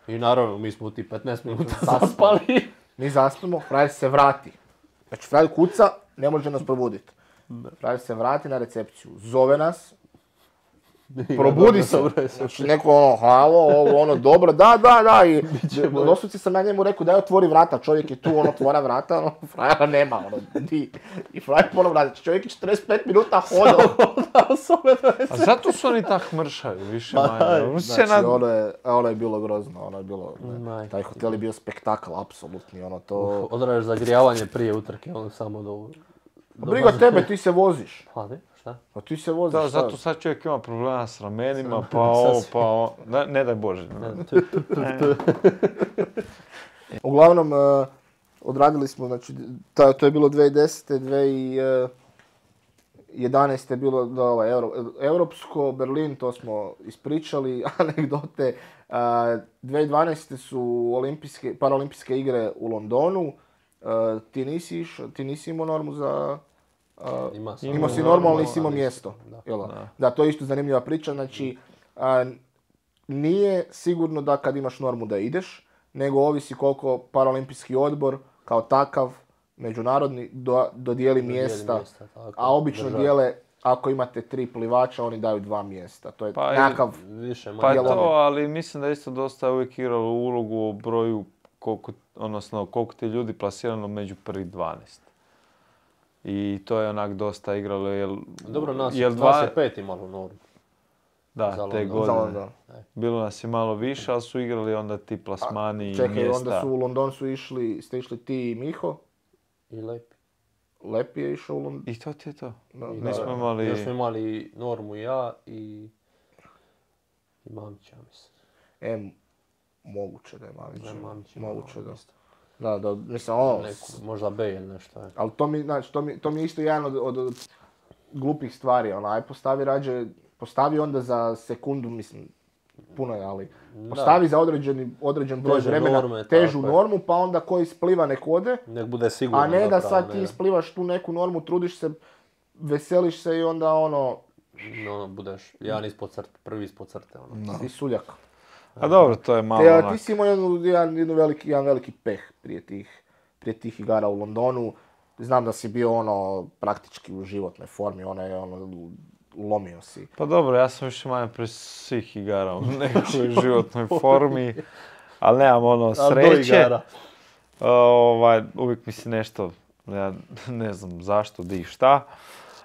I naravno, mi smo u ti petnaest minuta zaspali. Mi zaspimo, frajer se vrati. Znači, frajer kuca, ne može nas probuditi. Frajer se vrati na recepciju, zove nas, probudi se. Znači, neko ono, halo, ovo, ono, dobro, da, da, da. I doslovce sam ja njemu rekao, daj otvori vrata, čovjek je tu, ono, otvora vrata, ono, frajera nema, ono, di. I frajer ponovno vrati, čovjek je četrdeset pet minuta hodao. A zato su oni tak mršavi, više manje. Znači, nad... ono, je, ono je bilo grozno, ono je bilo, ne, taj hotel je bio spektakl, apsolutni, ono, to... Odraješ zagrijavanje prije utrke, ono, samo do... Briga tebe, ti se voziš. Pa ne, šta? Pa ti se voziš, da, zato sad čovjek ima problema s ramenima, pa ovo, pa ovo, ne, ne daj Bože. Uglavnom, uh, odradili smo, znači, ta, to je bilo dvije tisuće desete. dvije tisuće jedanaeste je bilo da, ovaj, Euro, Europsko, Berlin, to smo ispričali, anegdote. Uh, dvije tisuće dvanaeste su olimpijske, paraolimpijske igre u Londonu. Uh, ti nisi iš, ti nisi imao normu za... Uh, Ima imao si normalno, nisi imao mjesto. Da. Da. Da, to je isto zanimljiva priča. Znači, uh, nije sigurno da kad imaš normu da ideš, nego ovisi koliko Paraolimpijski odbor kao takav međunarodni do, dodijeli mjesta, mjesta tako, a obično država. dijele, ako imate tri plivača, oni daju dva mjesta. To je Pa i- nekakav... Više manje. Pa je Dijelove. to, ali mislim da je isto dosta uvijek igralo ulogu o broju, koliko, odnosno koliko ti ljudi plasirano među prvih dvanaest. I to je onak dosta igralo, jel... Dobro, nas, jel nas dva- je pet imalo normu. Da, za te London. Za godine. London. Bilo nas je malo više, ali su igrali onda ti plasmani i Čekaj, mjesta. onda su u London su išli, ste išli ti i Miho, I lepi. Lepi je išao u London. I to ti je to. Da, I Nismo da, imali- Još smo imali normu ja i... I Mamić, ja mislim. E, moguće da je Mamić. Da je Mamić imao Moguće da. isto. Da, da, mislim, ono, Neku, možda B ili nešto. Je. ali to mi, znači, to mi, to mi je isto jedan od, od, od glupih stvari, ono, aj postavi rađe, postavi onda za sekundu, mislim, puno je, ali postavi za određeni, određen broj Teže vremena norme, težu tako je. normu, pa onda ko ispliva nek ode, Nek bude sigurno a ne da zapravo, sad ne ti da- isplivaš tu neku normu, trudiš se, veseliš se i onda ono, No, budeš jedan ispod crte, prvi ispod crte. Ono. si suljak. A dobro, to je malo Te, a onak... ti si imao jednu, jedan, jednu veliki, jedan veliki peh prije tih, prije tih igara u Londonu. Znam da si bio ono praktički u životnoj formi, ono je ono, lomio si. Pa dobro, ja sam više manje pri svih igara u nekoj životnoj formi, ali nemam ono Ali do sreće. igara. Ovaj, uvijek mi se nešto, ja ne znam zašto, di i šta,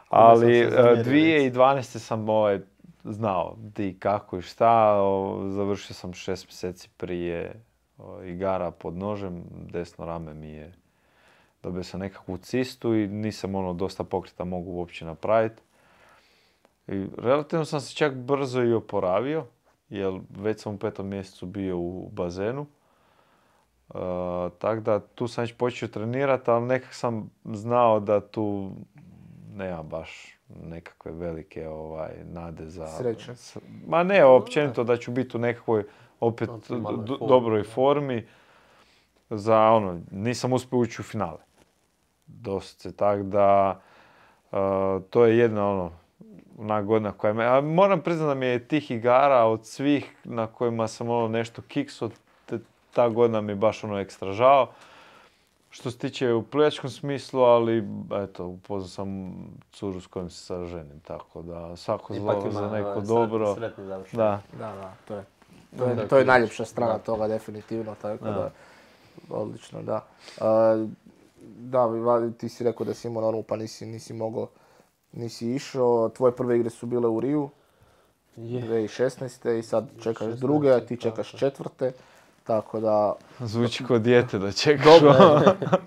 ali sam se zamjerio, eh, dvije tisuće dvanaeste sam ovaj, znao di i kako i šta, o, završio sam šest mjeseci prije o, igara pod nožem, desno rame mi je, dobio sam nekakvu cistu i nisam ono dosta pokreta mogu uopće napraviti. I relativno sam se čak brzo i oporavio, jer već sam u petom mjesecu bio u bazenu. Uh, tako da tu sam već počeo trenirati, ali nekak sam znao da tu nema baš nekakve velike ovaj, nade za... Sreće. s- Ma ne, općenito da ću biti u nekakvoj opet Optimalnoj do- formi, dobroj da. formi. Za ono, nisam uspio ući u finale. Doslovce, tako da uh, to je jedna ono, ona godina koja me... A moram priznati da mi je tih igara od svih na kojima sam ono nešto kiksao, te- ta godina mi je baš ono ekstra žao. Što se tiče u plivačkom smislu, ali eto, upoznao sam curu s kojom se sad ženim, tako da svako Ipak zlo ima za neko ovaj, dobro. Sretni, sretni završetak. Da. Da, da, to je, to je, Da, to je ključ. najljepša strana Da. toga, definitivno, tako da, Da. odlično, da. A, da, va- ti si rekao da si imao normu, pa nisi, nisi mogao, nisi išao, tvoje prve igre su bile u Riju, Je. dvije tisuće šesnaeste i sad čekaš šesnaeste, druge, a ti tako čekaš je. četvrte, tako da, Zvuči kao dijete da čekaš.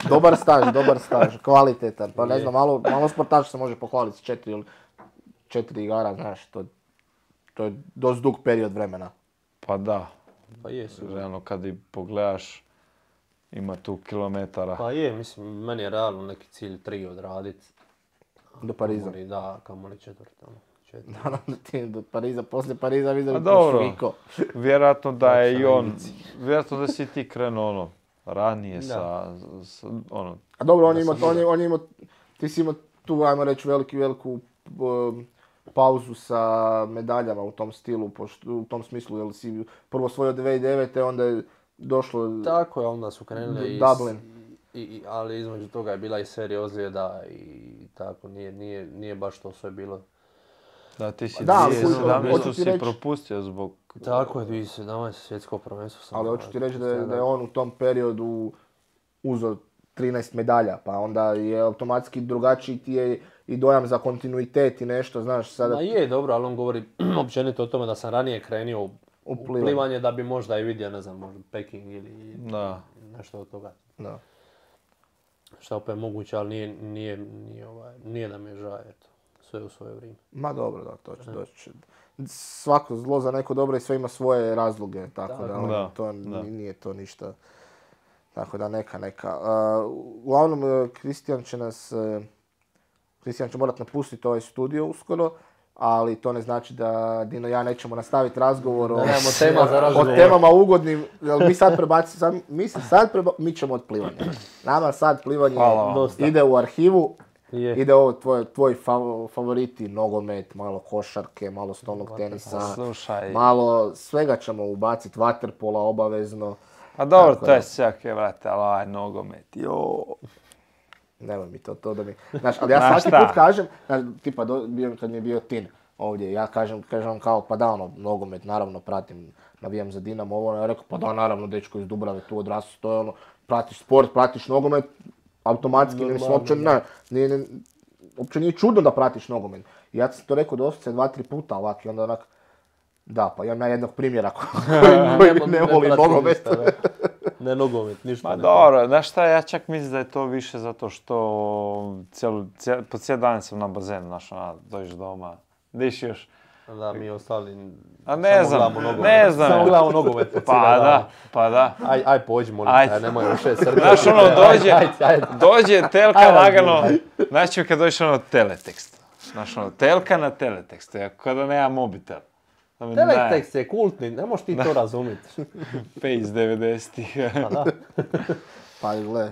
dobar staž, dobar staž, kvalitetan, pa ne Je. znam, malo, malo sportaš se može pohvaliti s četiri, ili četiri igara, znaš, to, to je dosta dug period vremena. Pa da, Pa je, sigurno. realno kad i pogledaš, ima tu kilometara. Pa je, mislim, meni je realno neki cilj tri odradit. Do Pariza. Kamoli, da, kamoli četvrta. ono, četiri. Naravno ti do Pariza, poslije Pariza vidio Pa bi dobro. Puerto Vjerojatno da je i Lakša on, ambicija. vjerojatno da si ti krenuo ono, ranije Da. sa, s- ono, A dobro, on Da je imao, sam on je, on je imao, ti si imao tu, ajmo reći, veliki, veliku um, pauzu sa medaljama u tom stilu, pošto, u tom smislu, jer si prvo osvojio dvije tisuće devete. onda je došlo... Tako je, onda su krenuli i, Dublin. i, i, ali između toga je bila i serija ozljeda i tako, nije, nije, nije baš to sve bilo. da ti si Da, ali dvije tisuće sedamnaeste hoću ti si reći- propustio zbog... Tako je, dvije tisuće sedamnaeste svjetsko prvenstvo sam. Ali hoću ti ovaj, reći da je, da je stradao. on u tom periodu uzeo trinaest medalja, pa onda je automatski drugačiji ti je i dojam za kontinuitet i nešto, znaš, sada... Ma je, dobro, ali on govori općenito o tome da sam ranije krenio u, U u plivanje. plivanje da bi možda i vidio, ne znam, možda Peking ili Da. nešto od toga. Da. Što opet moguće, ali nije, nije, nije, ovaj, nije da mi je žao, eto. Sve u svoje vrijeme. Ma dobro, da, to će doći. Svako zlo za neko dobro i sve ima svoje razloge, tako Tako. da, ono, Da, to da. n- nije to ništa. Tako da neka, neka. Uh, uglavnom, Kristijan će nas, uh, Kristijan će morat napustiti ovaj studio uskoro, ali to ne znači da Dino i ja nećemo nastaviti razgovor o, Da nemamo tema za o razgovor. temama ugodnim, jer mi sad prebacimo, sad, mi se sad preba, mi ćemo od plivanja. Nama sad plivanje Hvala vam. Dosta. ide u arhivu, Je. ide ovo tvoj, tvoj fav, favoriti, nogomet, malo košarke, malo stolnog tenisa, Slušaj. malo svega ćemo ubaciti, vaterpola obavezno. A dobro, Tako to je da. svake, vrate, ali ovaj nogomet, jo. Nemoj mi to, to da mi... Znaš, ali ja Znaš svaki šta? put kažem, znaš, tipa do, bio, kad mi je bio Tin ovdje, ja kažem, kažem kao, pa da, ono, nogomet, naravno pratim, navijam za Dinamo, ovo, ono, ja rekao, pa da, naravno, dečko iz Dubrave, tu odrastu, to je ono, pratiš sport, pratiš nogomet, automatski, ne, mislim, uopće, ne, nije, ne, uopće nije čudno da pratiš nogomet. I ja sam to rekao doslovce dva, tri puta ovak, i onda onak, da, pa imam ja jednog primjera koji ne, ne voli prati nogomet. ništa, ne. Ne nogomet, ništa Ma ne. dobro, znaš šta, ja čak mislim da je to više zato što cijelu, cijel, po cijel dan sam na bazenu, znaš, ona, dođeš doma, diš još. Da, mi ostali A ne samo znam, gledamo nogomet. ne znam. Samo gledamo nogomet po Pa cijeli dan. da, pa da. Aj, aj pođi, molim Ajde. te, nemoj više srce. Znaš, ono, dođe, Ajde, ajde. dođe telka Ajde, lagano, ajde. znači kad dođeš ono teletekst. Znaš, ono, telka na teletekstu, ja kada nema mobitel. Da mi ne- Teletekst je kultni, ne možeš ti to razumjeti. Pe iz devedesetih. Pa da. Pa gle,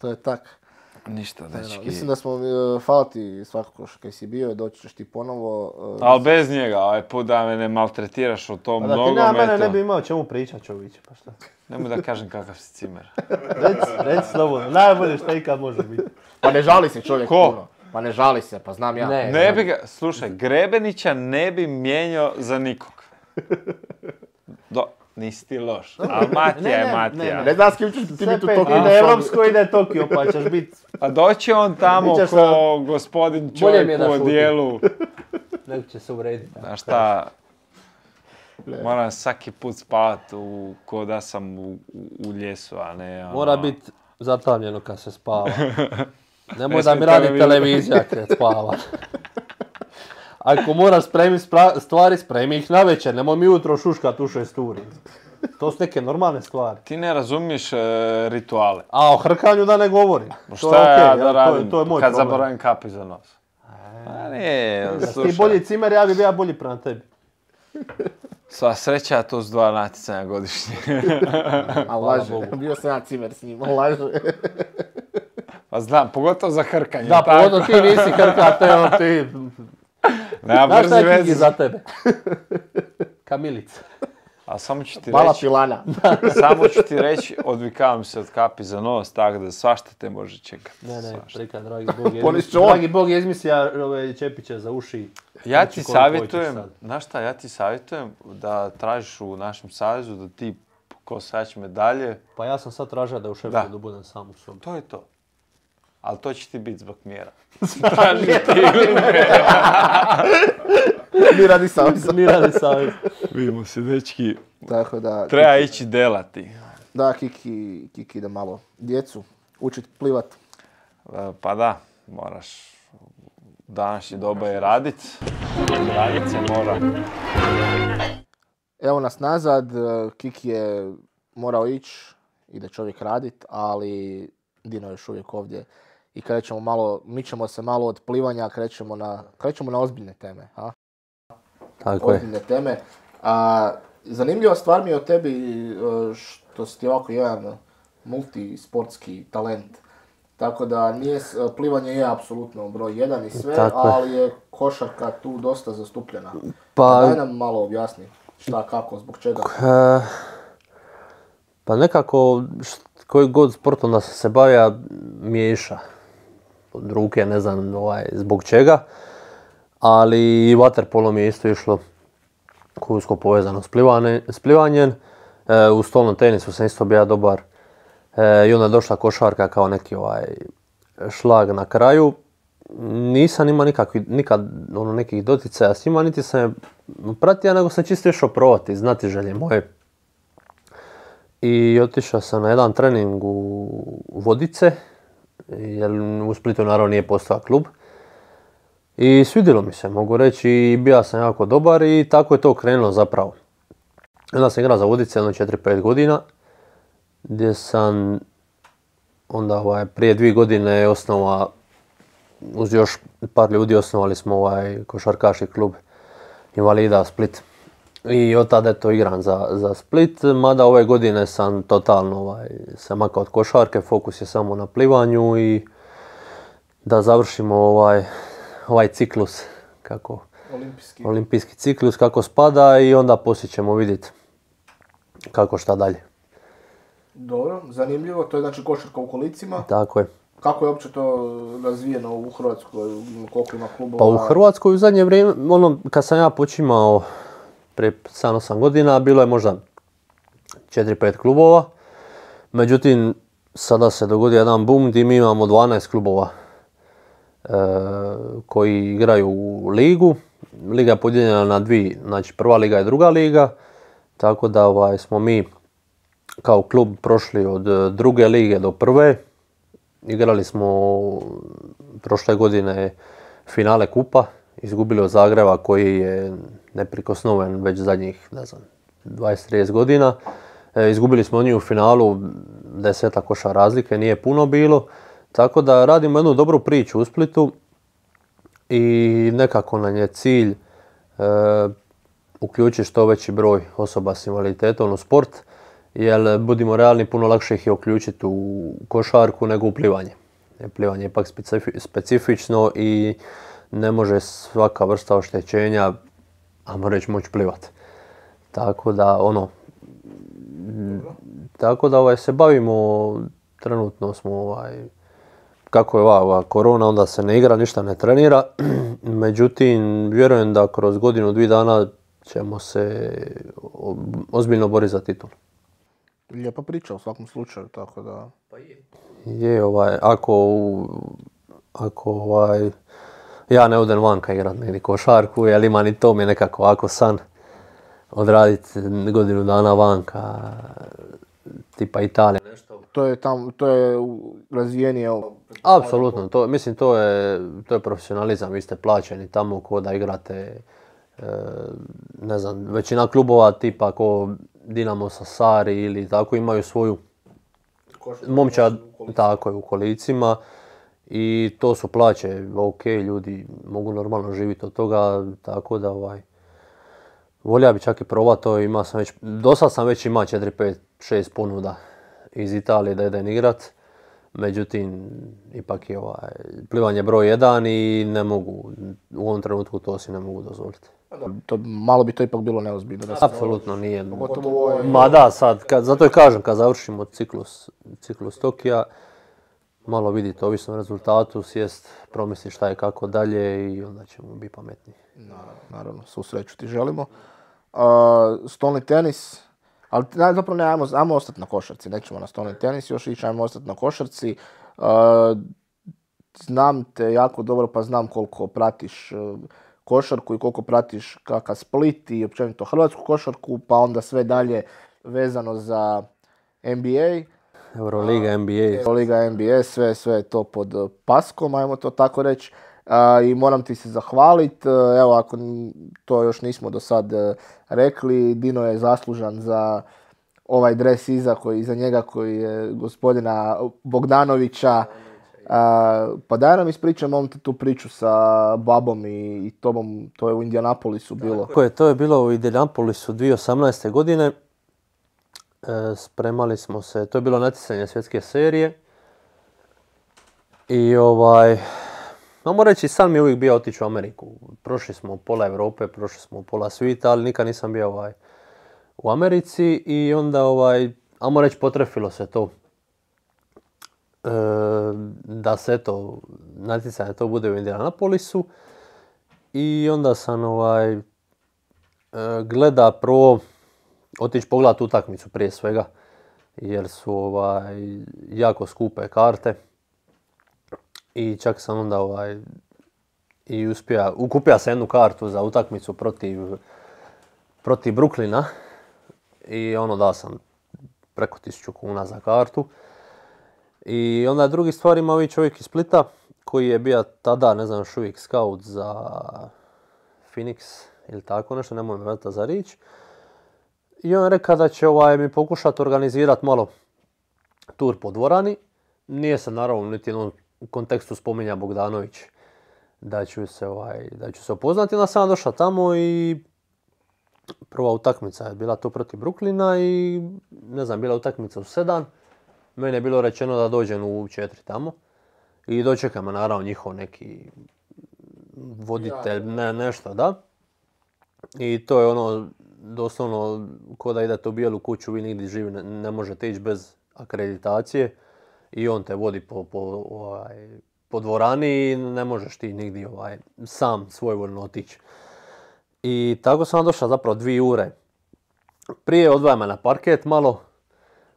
to je tak. Ništa, dečki. Mislim da smo, uh, hvala ti svakako što kaj si bio, doći ćeš ti ponovo. Uh, Ali bez njega, ovaj put da me ne maltretiraš o tom Pa da ti nema mene ne nogometu. bi imao čemu pričat, čovječe, pa šta. Nemoj da kažem kakav si cimer. Reci, reci slobodno, najbolje što ikad može biti. Pa ne žali se čovjek Ko? puno. Pa ne žali se, pa znam ja. Ne. Ne bi ga, slušaj, Grebenića ne bi mijenjao za nikog. Do, nisi ti loš, ali Matija Ne, je ne, Matija. ne, Ne znam s kim ćeš ti Sve biti u pet, toku. ide Evropsko, ide Tokio, pa ćeš biti, A doći on tamo Bićeš ko gospodin Bolje mi je čovjek da u šutim. odijelu. nego će se uvrediti. Znaš šta, moram svaki put spavat u, ko da sam u, u, u ljesu, a ne ono... Mora biti zatamljeno kad se spava. Nemoj Ne da smije mi radi televizija. televizija kad spava. Ako moraš spremiti spra- stvari, spremi ih navečer, nemoj mi jutro šuškat u šest uri. To su neke normalne stvari. Ti ne razumiješ e, rituale. A o hrkanju da ne govorim. Ma To šta je ja okej, da jel, to je- radim to je moj kad problem. zaboravim kapi za nos? A ne, Da si ti slušaj. bolji cimer, ja bi bio bolji prema tebi. Sva sreća, to su dva natjecanja godišnje. A laže, Bogu. bio sam ja cimer s njim, on laže. Pa znam, pogotovo za hrkanje. Da, tako? pogodno ti nisi hrkate, ono ti... Nema Znaš šta brzi je Kiki veze. za tebe? Kamilica. A samo ću ti Mala reći, pilana. samo ću ti reći, odvikavam se od kapi za nos, tako da svašta te može čekati. Ne, ne, svašta. prika, dragi Bog je Ponišće izmislio, on. dragi Bog je izmislio ove čepiće za uši. Ja Znači, ti koliko hoćeš savjetujem, sad. znaš šta, ja ti savjetujem da tražiš u našem savezu da ti ko osvajač medalje, Pa ja sam sad tražio da u Da. Šeffieldu budem sam u sobi. to je to. Ali to će ti biti zbog mjera. Traži ti ili ne. Mi radi savjeza. Mirani savez. Vidimo se, dečki. Tako da, Treba ići delati. da, Kiki, Kiki ide malo djecu učit plivat. E, Pa da, moraš u današnje doba je radit. Radit se mora. Evo nas nazad, e, Kiki je morao ići, ide čovjek radit, ali Dino je još uvijek ovdje. I krećemo malo, mičemo se malo od plivanja, krećemo na, krećemo na ozbiljne teme. A? Tako je. Ozbiljne teme. A, zanimljiva stvar mi je o tebi e, što si ti ovako jedan multisportski talent. Tako da nije, s- plivanje je apsolutno broj jedan i sve, Tako je. ali je košarka tu dosta zastupljena. Pa- Daj nam malo objasni šta, kako, zbog čega. E, pa nekako, št- koji god sportom da sam se bavio, miješa. Od ruke, ne znam ovaj, zbog čega. Ali i vaterpolo mi je isto išlo usko povezano s, plivane, s plivanjem. E, u stolnom tenisu sam isto bio dobar. E, I onda je došla košarka kao neki ovaj šlag na kraju. Nisam imao nikakvi, nikad ono, nekih doticaja s njima, niti sam je pratio, nego sam čisto išao probati, znati želje moje. I otišao sam na jedan trening u Vodice, jer u Splitu naravno nije postao klub. I svidjelo mi se, mogu reći, i bio sam jako dobar i tako je to krenulo zapravo. Onda sam igrao za Vodice jedno četiri pet godina, gdje sam onda ovaj, prije dvije godine osnova, uz još par ljudi osnovali smo ovaj košarkaški klub Invalida Split. I od tada je to igram za, za Split, mada ove godine sam totalno ovaj, se makao od košarke, fokus je samo na plivanju i da završimo ovaj, ovaj ciklus, kako, Olimpijski. olimpijski ciklus kako spada i onda poslije ćemo vidjeti kako šta dalje. Dobro, zanimljivo. To je znači košarka u kolicima. Tako je. Kako je uopće to razvijeno u Hrvatskoj? Koliko ima klubova? Pa u Hrvatskoj u zadnje vrijeme, ono, kad sam ja počimao prije sedam osam godina, bilo je možda četiri pet klubova. Međutim, sada se dogodio jedan boom gdje mi imamo dvanaest klubova e, koji igraju u ligu. Liga je podijeljena na dvije, znači prva liga i druga liga. Tako da ovaj, smo mi kao klub prošli od druge lige do prve. Igrali smo prošle godine finale kupa, izgubili od Zagreba koji je neprikosnoven već zadnjih, ne znam, dvadeset trideset godina. E, izgubili smo od njih u finalu, deseta koša razlike, nije puno bilo. Tako da radimo jednu dobru priču u Splitu i nekako nam je cilj e, uključiti što veći broj osoba s invaliditetom u sport. Jer budimo realni, puno lakše ih je uključiti u košarku nego u plivanje. Plivanje je ipak specifično i ne može svaka vrsta oštećenja, ajmo reći, moći plivati. Tako da ono, tako da ovaj, se bavimo, trenutno smo ovaj, kako je ova, ova korona, onda se ne igra, ništa ne trenira. Međutim, vjerujem da kroz godinu, dvije dana ćemo se ozbiljno boriti za titul. Lijepa priča u svakom slučaju, tako da... Pa je. Je, ovaj, ako, ako ovaj, ja ne odem vanka igrat negdje košarku, jer ima ni to mi je nekako ovako san odraditi godinu dana vanka, tipa Italija. To je tam, to je razvijenije... Apsolutno, to, mislim to je, to je profesionalizam, vi ste plaćeni tamo ko da igrate, e, ne znam, većina klubova tipa ko Dinamo Sassari ili tako imaju svoju momčad, tako je, u kolicima i to su plaće, ok, ljudi mogu normalno živjeti od toga, tako da ovaj, volio bi čak i probati to, ima sam već, do sad sam već imao četiri, pet, šest ponuda iz Italije da idem igrat, međutim ipak je ovaj, plivanje broj jedan i ne mogu, u ovom trenutku to si ne mogu dozvoliti. To, malo bi to ipak bilo neozbiljno. Da apsolutno nije. Pogotovo je... Ma da, sad, kad, zato i kažem, kad završimo ciklus, ciklus Tokija, malo vidite, ovisno o rezultatu, sjest, promisli šta je kako dalje i onda ćemo biti pametniji. Naravno, naravno, svu sreću ti želimo. Uh, stolni tenis, ali zapravo ne, ajmo, ajmo ostati na košarci, nećemo na stolni tenis, još ići, ajmo ostati na košarci. Uh, znam te jako dobro, pa znam koliko pratiš uh, košarku i koliko pratiš kakav Split i općenito hrvatsku košarku, pa onda sve dalje vezano za N B A. Euroliga, N B A. Euroliga, N B A, sve, sve je to pod paskom, ajmo to tako reći. Uh, I moram ti se zahvaliti. Uh, evo, ako to još nismo do sad uh, rekli, Dino je zaslužan za ovaj dres iza, koji, iza njega koji je gospodina Bogdanovića. Uh, pa daj nam ispričaj, molim te tu priču sa babom i, i tobom, to je u Indianapolisu bilo. Tako je, to je bilo u Indianapolisu dvije tisuće osamnaeste. godine. E, spremali smo se, to je bilo natjecanje svjetske serije. I ovaj, mogu reći, san mi je uvijek bio otići u Ameriku. Prošli smo pola Europe, prošli smo pola svijeta, ali nikad nisam bio ovaj, u Americi i onda, ovaj, ajmo reći, potrefilo se to. E, da se to natjecanje to bude u Indianapolisu i onda sam ovaj, e, gleda prvo otići pogledati utakmicu prije svega jer su ovaj, jako skupe karte i čak sam onda ovaj, i uspio, ukupio sam jednu kartu za utakmicu protiv, protiv Brooklyna i ono dao sam preko tisuću kuna za kartu. I onda drugi stvar ima ovaj čovjek iz Splita koji je bio tada, ne znam, još uvijek scout za Phoenix ili tako nešto, nemoj me vrata za riječ. I on je rekao da će ovaj, mi pokušati organizirati malo tur po dvorani. Nije se naravno niti jednom kontekstu spominja Bogdanović da ću se, ovaj, da ću se upoznati. Onda sam došao tamo i prva utakmica je bila to protiv Brooklyna i ne znam, bila utakmica u sedam. Meni je bilo rečeno da dođem u četiri tamo. I dočeka me naravno njihov neki voditelj, ne, nešto, da. I to je ono, doslovno, ko da idete u Bijelu kuću, vi nigdje živi, ne, ne možete ići bez akreditacije. I on te vodi po, po, ovaj, po dvorani i ne možeš ti nigdje ovaj, sam svojvoljno otići. I tako sam došao zapravo dvije ure. Prije odvaja me na parket malo,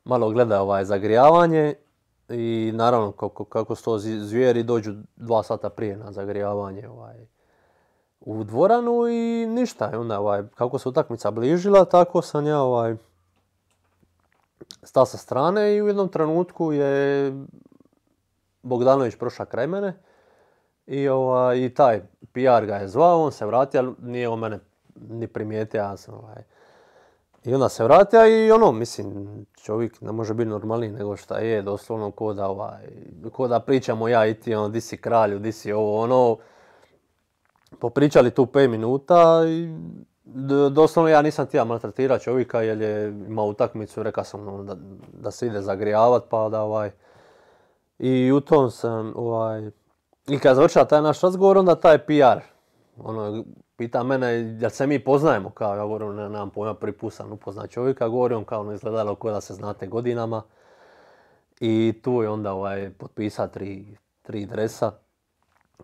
malo gleda ovaj, zagrijavanje i naravno kako, kako su to zvijeri dođu dva sata prije na zagrijavanje ovaj, u dvoranu i ništa. I onda ovaj, kako se utakmica bližila, tako sam ja ovaj, stao sa strane i u jednom trenutku je Bogdanović prošao kraj mene i, ovaj, i taj P R ga je zvao, on se vratio, ali nije on mene ni primijetio, ja sam ovaj. I onda se vratio i ono, mislim, čovjek ne može biti normalniji nego šta je, doslovno ko da, ovaj, ko da pričamo ja i ti, ono, di si kralju, di si ovo, ono, popričali tu pet minuta i doslovno ja nisam htio maltretirati čovjeka jer je imao utakmicu, rekao sam ono, da, da se ide zagrijavat pa da ovaj... I u tom sam ovaj... I kad završava taj naš razgovor onda taj P R, ono, pita mene jel se mi poznajemo, kao ja govorim ne, nemam pojma, prvi put sam upoznat čovjeka, govorim kao ono izgledalo kao da se znate godinama. I tu je onda ovaj, potpisao tri, tri dresa.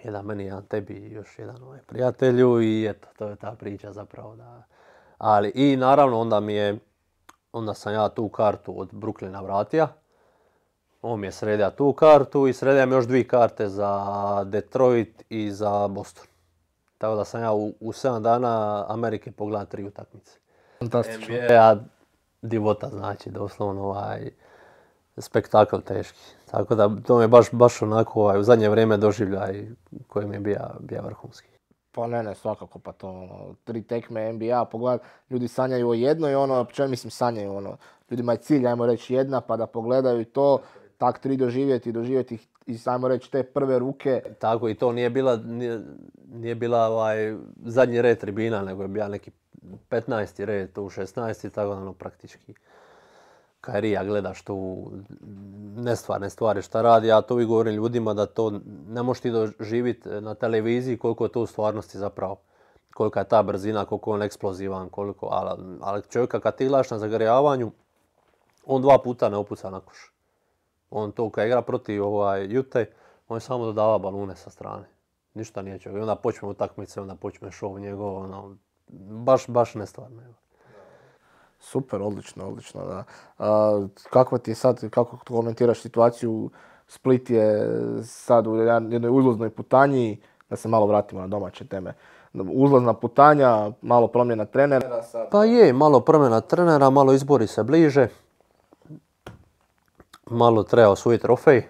Jedan meni, jedan tebi i još jedan ovaj prijatelju i eto, to je ta priča zapravo da... Ali i naravno onda mi je, onda sam ja tu kartu od Brooklyna vratio. On mi je sredio tu kartu i sredio mi još dvije karte za Detroit i za Boston. Tako da sam ja u, u sedam dana Amerike pogledao tri utakmice. Fantastično. N B A divota znači, doslovno ovaj... spektakl teški. Tako da to mi je baš, baš onako ovaj, u zadnje vrijeme doživljaj koji mi je bio, bio vrhunski. Pa ne, ne, svakako, pa to ono, tri tekme N B A, pogledaj, ljudi sanjaju o jednoj, ono, čemu mislim sanjaju, ono, ljudima je cilj, ajmo reći, jedna, pa da pogledaju to, tak tri doživjeti, doživjeti i ajmo reći te prve ruke. Tako i to nije bila, nije, nije bila ovaj, zadnji red tribina, nego je bio neki petnaesti red, tu šesnaesti, tako da ono praktički. Kairija gledaš tu nestvarne stvari šta radi, ja to uvijek govorim ljudima da to ne možeš ti doživjeti na televiziji koliko je to u stvarnosti zapravo. Kolika je ta brzina, koliko je on eksplozivan, koliko, ali, ali čovjeka kad ti gledaš na zagrijavanju, on dva puta ne opuca na koš. On to kad igra protiv ovaj, Ute, on je samo dodava balune sa strane. Ništa nije čovjek. Onda počne utakmice, onda počne show njegov, ono, baš, baš nestvarno. Super, odlično, odlično, da. A, kakva ti je sad, kako komentiraš situaciju, Split je sad u jednoj uzlaznoj putanji, da se malo vratimo na domaće teme. Uzlazna putanja, malo promjena trenera. Sad... Pa je, malo promjena trenera, malo izbori se bliže. Malo treba osvojiti trofej.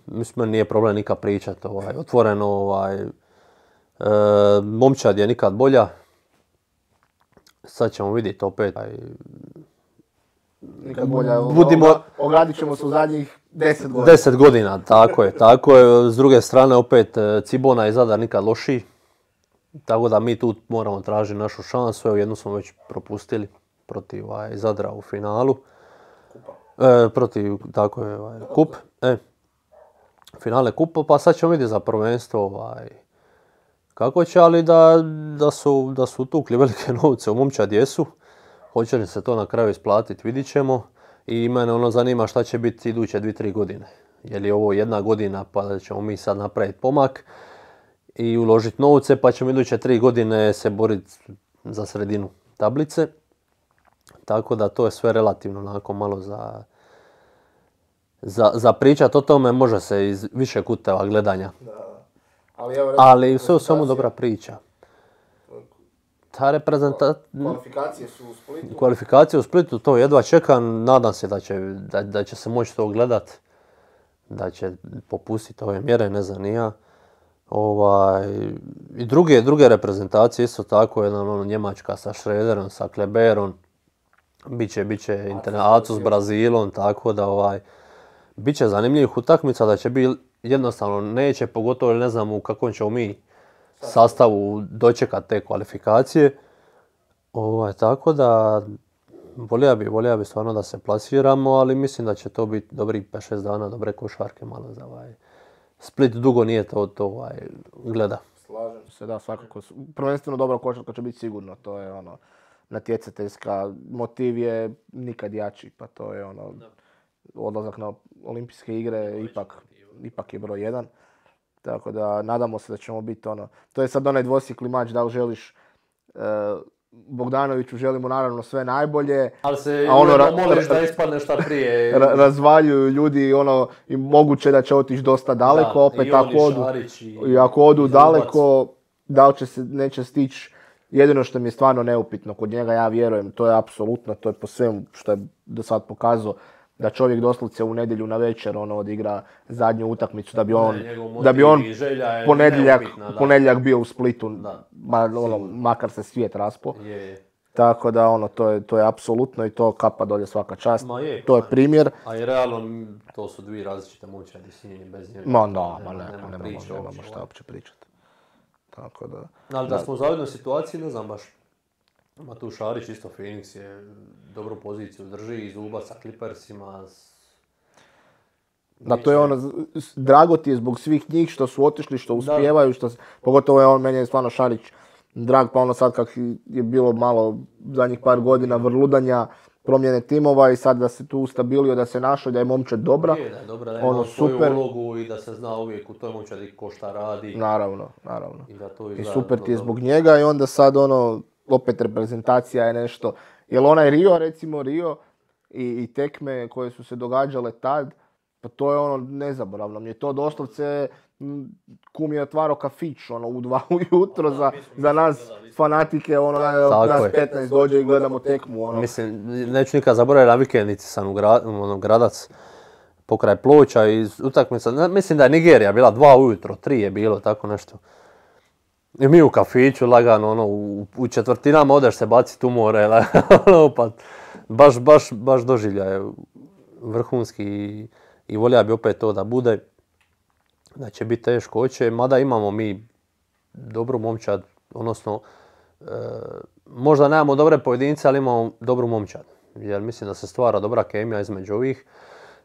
Mislim, nije problem nikad pričati, ovaj, otvoreno, ovaj, e, momčad je nikad bolja. Sad ćemo vidjeti opet. Nikad bolja. Budimo... Ogradit ćemo se u zadnjih deset godina. Deset godina, tako je, tako je. S druge strane opet Cibona i Zadar nikad lošiji. Tako da mi tu moramo tražiti našu šansu. Evo jednu smo već propustili protiv ovaj, Zadra u finalu. Kupa. E, protiv, tako je, ovaj, kup. E, finale kupa, pa sad ćemo vidjeti za prvenstvo. Ovaj, kako će, ali da, da, su, da su tukli velike novce u momčad jesu. Hoće li se to na kraju isplatiti, vidit ćemo. I mene ono zanima šta će biti iduće dvije, tri godine. Je li ovo jedna godina pa da ćemo mi sad napraviti pomak i uložiti novce pa ćemo iduće tri godine se boriti za sredinu tablice. Tako da to je sve relativno onako malo za, za, za pričat o tome, može se iz više kuteva gledanja. Da. Ali, evo, Ali sve u svemu dobra priča. Ta reprezentacija... Kvalifikacije su u Splitu. Kvalifikacije u Splitu, to jedva čekam. Nadam se da će, da, da će se moći to gledat. Da će popustiti ove mjere, ne znam ni ja. Ovaj, i druge, druge reprezentacije isto tako, jedan ono, Njemačka sa Schröderom, sa Kleberom. Biće, biće Acu s Brazilom, tako da ovaj, biće zanimljivih utakmica, da će biti jednostavno neće, pogotovo ne znam u kakvom ćemo mi sastavu dočekati te kvalifikacije. Ovaj, tako da volio bi, volio bi stvarno da se plasiramo, ali mislim da će to biti dobri pet šest dana, dobre košarke malo za ovaj... Split dugo nije to, to ovaj, gleda. Slažem se, da, svakako. Prvenstveno dobra košarka će biti sigurno, to je ono, natjecateljska, motiv je nikad jači, pa to je ono, odlazak na olimpijske igre ipak, ipak je broj jedan. Tako da, nadamo se da ćemo biti ono, to je sad onaj dvosjekli mač, da li želiš, uh, Bogdanoviću želimo naravno sve najbolje. Ali se a ono, ra- moliš da ispadne šta prije. ra- razvaljuju ljudi ono, i moguće da će otići dosta daleko, Da, opet i on, ako i odu, Šarić, i- i ako odu i Zubac. daleko, da li će se, neće stići. Jedino što mi je stvarno neupitno kod njega, ja vjerujem, to je apsolutno, to je po svemu što je do sad pokazao, da čovjek doslovce u nedjelju na večer ono odigra zadnju utakmicu, da bi on, Ne, njegov motiv da bi on i želja je ponedjeljak, neupitna, da. ponedjeljak bio u Splitu, Da. ma, ono, makar se svijet raspo. Je, je. Tako da ono, to je, to je apsolutno i to kapa dolje svaka čast. Ma je, to je pa. primjer. A i realno, m, to su dvije različite momčadi s njim i bez njega. Ma da, ma ne, nema, nemamo, priče nemamo uopće, šta ovaj. uopće pričati. Tako da... Ali da smo u zavidnoj situaciji, ne znam baš. Ma tu Šarić isto, Phoenix je dobru poziciju drži, i Zubac sa Clippersima. s- Da, to je ono, z- s- drago ti je zbog svih njih što su otišli, što Da. uspijevaju, što, s- pogotovo je on, meni je stvarno Šarić drag, pa ono sad kak je bilo malo zadnjih par godina vrludanja, promjene timova i sad da se tu ustabilio, da se našao, da je momčad dobra. Je, da je dobra, da Ono, ima svoju super. ulogu i da se zna uvijek u toj momčadi ko šta radi. Naravno, naravno. I da to I izgleda super vrlo ti je dobro. zbog njega i onda sad ono, opet reprezentacija je nešto. Jel onaj Rio, recimo Rio i, i tekme koje su se događale tad, pa to je ono nezaboravno. Mi je to doslovce, m, kum je otvarao kafić ono, u dva ujutro za, za nas fanatike, ono, Tako nas je. petnaest dođe i gledamo tekmu. Ono. Mislim, neću nikad zaboraviti, na vikendici sam u gra, ono, Gradac pokraj Ploča i utakmica, ne, mislim da je Nigerija bila dva ujutro, tri je bilo, tako nešto. I mi u kafiću lagano, ono, u, u četvrtinama odeš se baciti u more, ono, pa baš, baš, baš doživljaj vrhunski i, i volja bi opet to da bude, da će biti teško, hoće, mada imamo mi dobru momčad, odnosno, e, možda nemamo dobre pojedince, ali imamo dobru momčad, jer mislim da se stvara dobra kemija između ovih.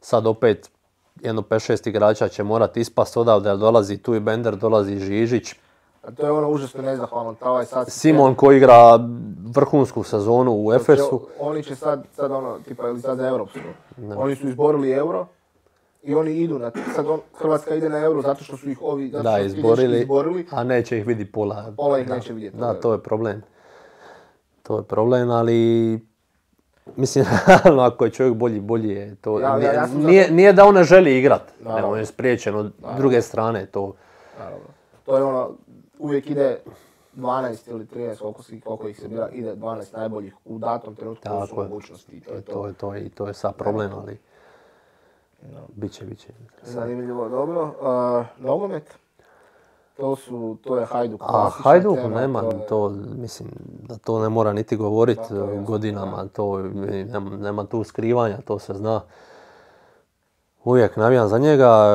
Sad opet jedno pet šest igrača će morati ispast odavde, jer dolazi tu i Bender, dolazi Žižić. A to je ono užasno nezahvalno. Ta ovaj sad Simon koji igra vrhunsku sezonu u Efesu. Oni će sad, sad ono, tipa ili sad za Europsko. Oni su izborili euro i oni idu na, sad on, Hrvatska ide na euro zato što su ih ovi, zato Da, što su fizički izborili, izborili. a neće ih vidi pola. Pola ih Da, neće vidjeti. Da, to je problem. To je problem, ali mislim, ako je čovjek bolji, bolji je to. Ja- ja- ja sam za nije, nije da on ne želi igrat, Naravno. nego on je spriječen od druge strane to. Naravno. To je ono, uvijek ide dvanaest ili trinaest, koliko, si- koliko ih se bira, ide dvanaest najboljih u datom trenutku, to su Tako je. mogućnosti. i To je To to. je, to je, i to je sad problem, ali biće, biće. Zanimljivo, dobro. Uh, nogomet? To su, to je Hajduk. A klasična Hajduk tema, nema, to je- to, mislim da to ne mora niti govoriti Da, to je jasno, godinama, to nema, nema tu skrivanja, to se zna. Uvijek navijam za njega,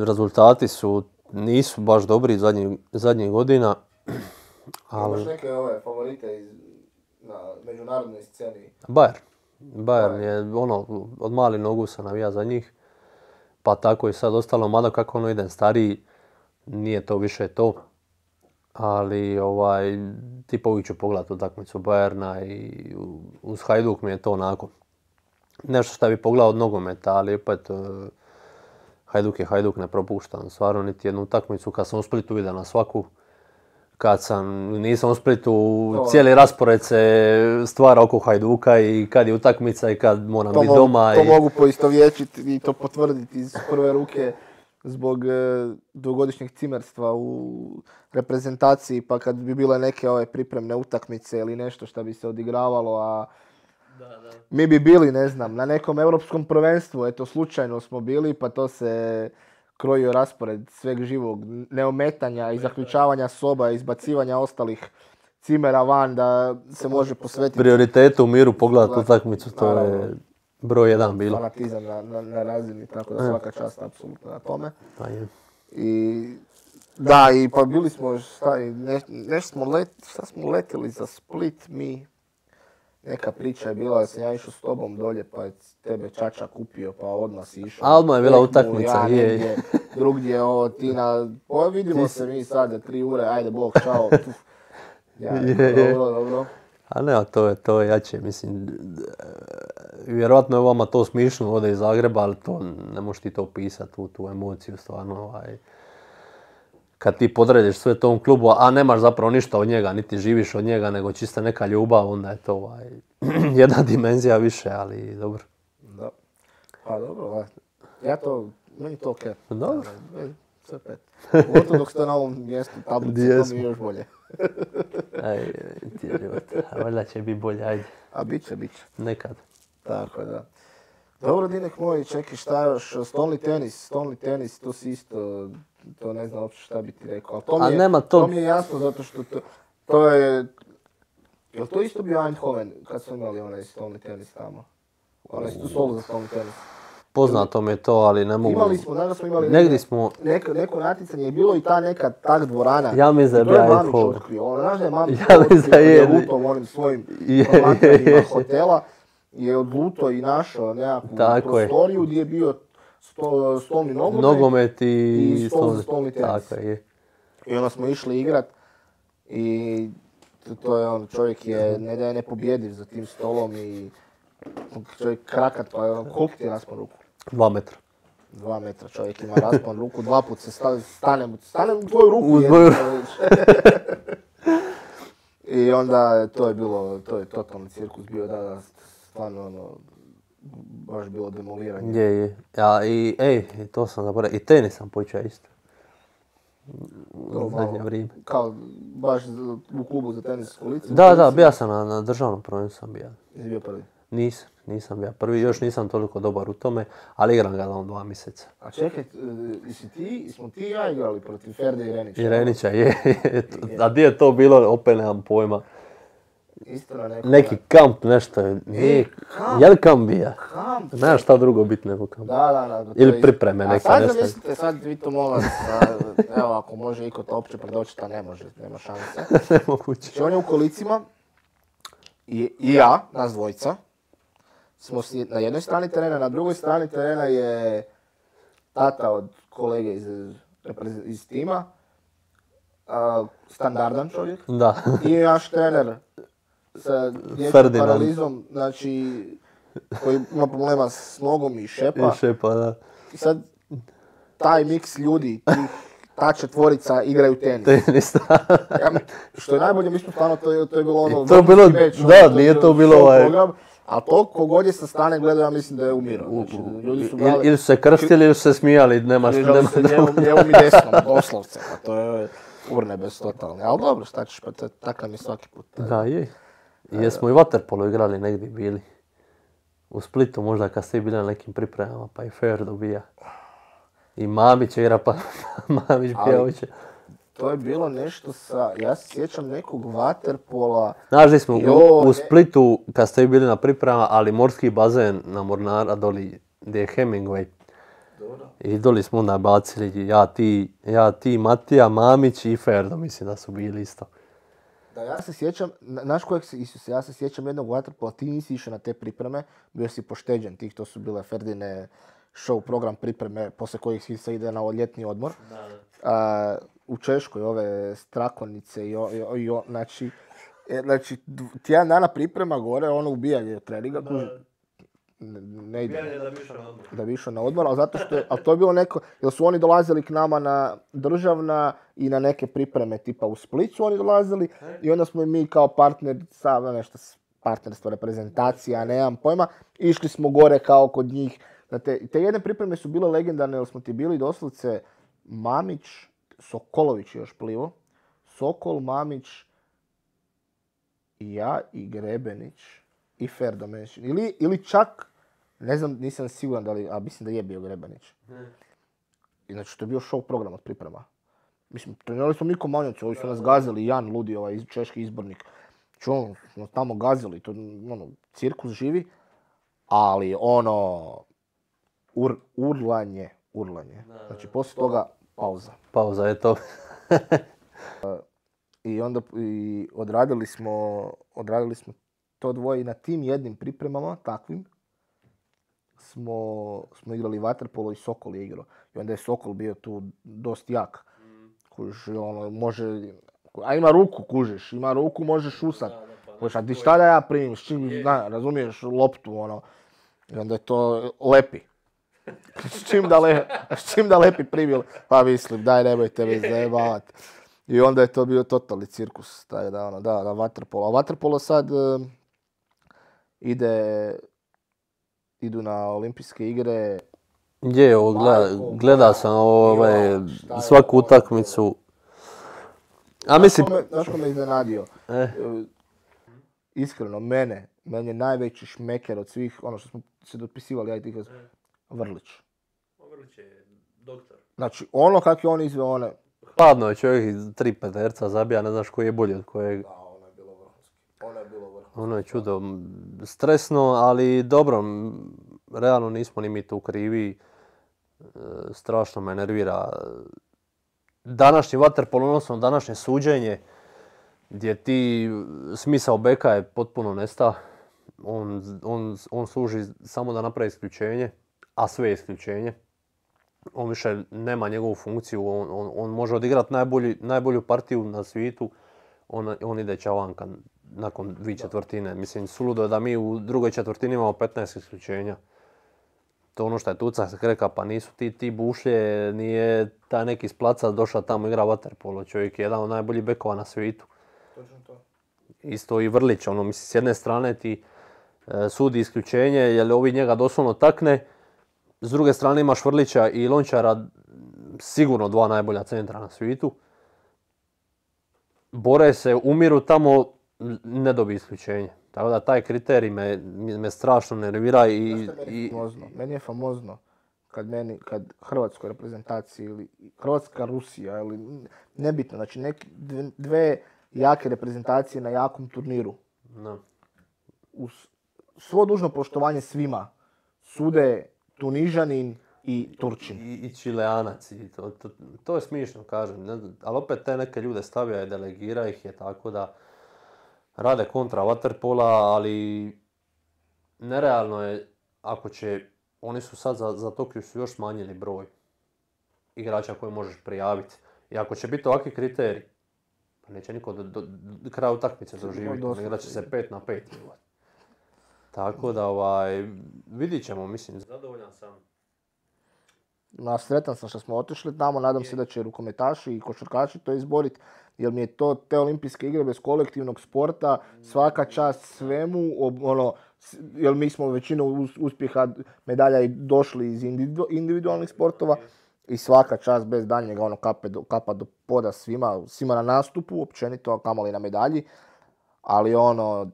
rezultati su, nisu baš dobri zadnjih, zadnjih godina, Imaš ali neke ove favorite iz, na međunarodnoj sceni? Bayern. Bayern je ono, od malih nogu se navija za njih, pa tako i sad ostalo, mada kako ono idem stariji, nije to više to. Ali ovaj, tipa uvijek ću pogledati utakmicu Bayerna i u- uz Hajduk mi je to onako. Nešto što bi pogledao od nogometa, ali opet eh, Hajduk je Hajduk, ne propuštam stvarno niti jednu utakmicu. Kad sam u Splitu vidio na svaku, kad sam, nisam u Splitu, To- cijeli raspored se stvara oko Hajduka i kad je utakmica i kad moram To, biti mogu, doma. to i... mogu poistovjećiti i to potvrditi iz prve ruke zbog e, dvogodišnjeg cimerstva u reprezentaciji, pa kad bi bile neke ove pripremne utakmice ili nešto što bi se odigravalo, a mi bi bili, ne znam, na nekom europskom prvenstvu, eto slučajno smo bili, pa to se krojio raspored sveg živog, neometanja i zaključavanja soba, izbacivanja ostalih cimera van da se može posvetiti Prioritetu u miru pogledati Da. utakmicu, to Naravno. je broj jedan bilo. fanatizam na, na, na razini, tako da svaka čast apsolutno na tome. Pa je. I da, i pa bili smo, šta, i ne, nešto smo let, šta smo letjeli za Split mi, neka priča je bila da sam ja išao s tobom dolje pa je tebe čača kupio pa odmah si išao. A odmah je bila Tekmu, utakmica, ja je. negdje, drugdje ovo ti na... Pa vidimo se mi sad za tri ure, ajde bog, čao. Ja, Je, je. dobro, dobro. A ne, a to je, to je jače, mislim, vjerojatno je vama to smišno ode iz Zagreba, ali to ne možeš ti to opisati, tu, tu emociju stvarno, ovaj. Kad ti podrediš sve tom klubu, a nemaš zapravo ništa od njega, niti živiš od njega, nego čista neka ljubav, onda je to ovaj, jedna dimenzija više, ali dobro. Da. Pa dobro, ovaj. Ja to, meni to okej. Dobro. Okay. Sve pet. Pogotovo dok ste na ovom mjestu tablice, to mi je još bolje. Aj, ti je život. A valjda će biti bolje, ajde. A bit će, bit će. Nekad. Tako da. Dobro, Dinek moj, čekaj šta još, stolni tenis, stolni tenis, to si isto, to ne znam uopće šta bi ti rekao, ali to mi, A je, nema to- to mi je jasno zato što to, to je, jel to isto bio Eindhoven kad smo imali onaj stolni tenis tamo? Onaj tu solu za stolni tenis. Poznato mi je to, ali ne mogu... Imali smo, danas smo imali Negdje negdje- smo... neko, neko natjecanje je bilo i ta neka tak dvorana. Ja mislim da je To je bio Mamić Eindhoven. otkrio, ono, znaš da je Mamić Ja mislim otkrio da kad je. je lutao onim svojim Je, promatranjima je. hotela, je odlutao i našao nekakvu Tako je. prostoriju gdje je bio sto, stolni nogomet. Nogomet i... i stol za stolni tenis. Tako je. I onda smo išli igrat i to- to je on, čovjek je, ne da je nepobjediv za tim stolom i čovjek krakat, pa je on, koliko ti je raspon ruku? Dva metra. Dva metra čovjek ima raspon ruku, dva put se stavi, stane, mu- stane u tvoju ruku. U jednu, tvoju I onda to je bilo, to je totalni cirkus bio, da, da, stvarno ono, baš bilo demoliranje. Je, je. Ja, i, ej, i to sam zaboravio. I tenis sam počeo isto. To U zadnje malo, vrijeme. Kao baš za- u klubu za tenis u licu. Da, da, bio sam na, na državnom prvenstvu sam bio. Jesi bio prvi. Nisam, nisam bio prvi, još nisam toliko dobar u tome, ali igram ga on dva mjeseca. A čekaj, e, jesi ti, smo ti i ja igrali protiv Ferde i Renića? I Renića je, je. A gdje je to bilo, opet nemam pojma. Isto na nekom... Neki kamp, nešto je. Nije, kamp? je li kamp bija? Kamp? Nema šta drugo biti nego kamp. Da, da, da. to Ili je- pripreme A neke, sad nešto. zamislite, sad vi to molim vas, a, evo ako može iko to opće predočiti, a ne može, nema šanse. Nemoguće. Znači on je u kolicima i, i ja, nas dvojica, smo si na jednoj strani terena, na drugoj strani terena je tata od kolege iz, reprez- iz tima, a, standardan čovjek, Da. i naš trener sa dječjom Ferdinand. paralizom, znači koji ima problema s nogom i šepa. I šepa, da. I sad taj miks ljudi, tih, ta četvorica igraju tenis. Tenis, Ja, mi- što je najbolje, mi smo stvarno, to je, to je bilo ono... I to je bilo- vrhunski meč, ono, da, je nije bio to bilo show ovaj- program, a to kogod je sa strane gledao, ja mislim da je umirao. Znači, ljudi su Ili, ili su se krstili ili su se smijali, nema šta, križali nema se da... lijevom, lijevom i desnom, doslovce, pa to je urnebes totalni. Ali dobro, šta ćeš, pa to je takav mi svaki put. Da, je. I jesmo i vaterpolo igrali negdje bili. U Splitu možda kad ste i bili na nekim pripremama, pa i Fer dobija. I Mamić igra, pa Mamić Ali- bija hoće. To je bilo nešto sa, ja se sjećam nekog vaterpola, Znaš di smo Jo, u, ne- u Splitu kad ste i bili na pripremama, ali morski bazen na Mornara doli gdje je Hemingway. I doli smo onda bacili ja, ti, ja, ti, Matija, Mamić i Ferdo, mislim da su bili isto. da ja se sjećam, na- znaš kojeg se, Isuse, ja se sjećam jednog vaterpola, ti nisi išao na te pripreme, bio si pošteđen tih, to su bile Ferdine show program pripreme, poslije kojih se ide na ljetni odmor. A, u Češkoj ove strakonice i, o, i, o, i o- znači, e, znači dv- tjedan dana priprema gore, ono ubijanje treninga, kuži- ne, ne ide. Da bi išao na odmor, ali zato što je, ali to je bilo neko, jer su oni dolazili k nama na državna i na neke pripreme tipa u Split su oni dolazili i onda smo i mi kao partner, sa nešto s- partnerstvo, reprezentacija, nemam pojma, išli smo gore kao kod njih. Na te, te jedne pripreme su bile legendarne, jer smo ti bili doslovce Mamić, Sokolović je još plivo, Sokol, Mamić, i ja i Grebenić i Ferdo Menšin. Ili, ili čak, ne znam, nisam siguran da li, a mislim da je bio Grebenić. I znači to je bio show program od priprema. Mislim, trenirali smo mi Komanjevci, ovi su nas gazili, Jan Ludi, ovaj iz- češki izbornik. Znači ono, smo tamo gazili, to ono, cirkus živi, ali ono, ur, urlanje, urlanje. Znači poslije toga pauza. Pauza je to. I onda i odradili smo, odradili smo to dvoje i na tim jednim pripremama, takvim, smo, smo igrali vaterpolo i Sokol je igrao. I onda je Sokol bio tu dosta jak. Kužiš, ono, može, a ima ruku, kužiš, ima ruku, možeš usat. Kužiš, a ti šta da ja primim, s čim, zna, razumiješ, loptu, ono. I onda je to lepi. S čim da, le, s čim da lepi primil, pa mislim, daj nemojte me zajebavati. I onda je to bio totalni cirkus, taj da, ono, da, da, vaterpolo. A vaterpolo sad uh, ide, idu na olimpijske igre. Je, ovo gleda, gleda sam ovaj, svaku utakmicu. A mislim... Znaš ko me iznenadio? Eh. Iskreno, mene, meni je najveći šmeker od svih, ono što smo se dopisivali, ja i ti kad... Vrlić. Vrlić je doktor. Znači, ono kak je on izveo one... Hladno je čovjek iz tri peterca zabija, ne znaš koji je bolji od kojeg. Da, ono je bilo vrhunski. Ono je bilo vrhunski. Ono je čudo. Stresno, ali dobro, realno nismo ni mi tu krivi. Strašno me nervira današnji vaterpolo, odnosno današnje suđenje, gdje ti smisao beka je potpuno nesta. On, on, on služi samo da napravi isključenje, a sve je isključenje. On više nema njegovu funkciju, on, on, on može odigrati najbolji, najbolju partiju na svijetu, on, on ide čavanka nakon dvije četvrtine. Mislim, suludo je da mi u drugoj četvrtini imamo petnaest isključenja. To ono što je Tuca se kreka, pa nisu ti, ti bušlje, nije taj neki s placa došao tamo igra vaterpolo. Čovjek je jedan od najboljih bekova na svijetu. Točno to. Isto i Vrlić, ono, mislim, s jedne strane ti e, sudi isključenje, jer ovi njega doslovno takne. S druge strane imaš Vrlića i Lončara, sigurno dva najbolja centra na svijetu. Bore se, umiru tamo, ne dobije isključenje. Tako da taj kriterij me, me strašno nervira i... Znaš što meni je famozno? Meni je famozno kad, meni, kad hrvatskoj reprezentaciji ili Hrvatska Rusija ili nebitno, znači neki, dve jake reprezentacije na jakom turniru. No. Uz svo dužno poštovanje svima sude Tunižanin i Turčin. I, i Čileanac. I to, to, to je smišno, kažem. Ne, ali opet te neke ljude stavlja i delegira ih je tako da rade kontra vaterpola, ali nerealno je ako će, oni su sad za, za Tokio su još smanjili broj igrača koje možeš prijaviti. I ako će biti ovakvi kriteriji, pa neće niko do, do, do kraja utakmice doživjeti, igrat će se pet na pet. Tako da ovaj, vidit ćemo, mislim. Zadovoljan sam. Na sretan sam što smo otišli tamo, nadam se da će rukometaši i košarkaši to izboriti, jer mi je to te olimpijske igre bez kolektivnog sporta, svaka čast svemu, ono, jer mi smo većinu uspjeha medalja i došli iz individualnih sportova i svaka čast bez daljnjega, ono, kape do, kapa do poda svima, svima na nastupu, općenito, kamoli na medalji, ali ono,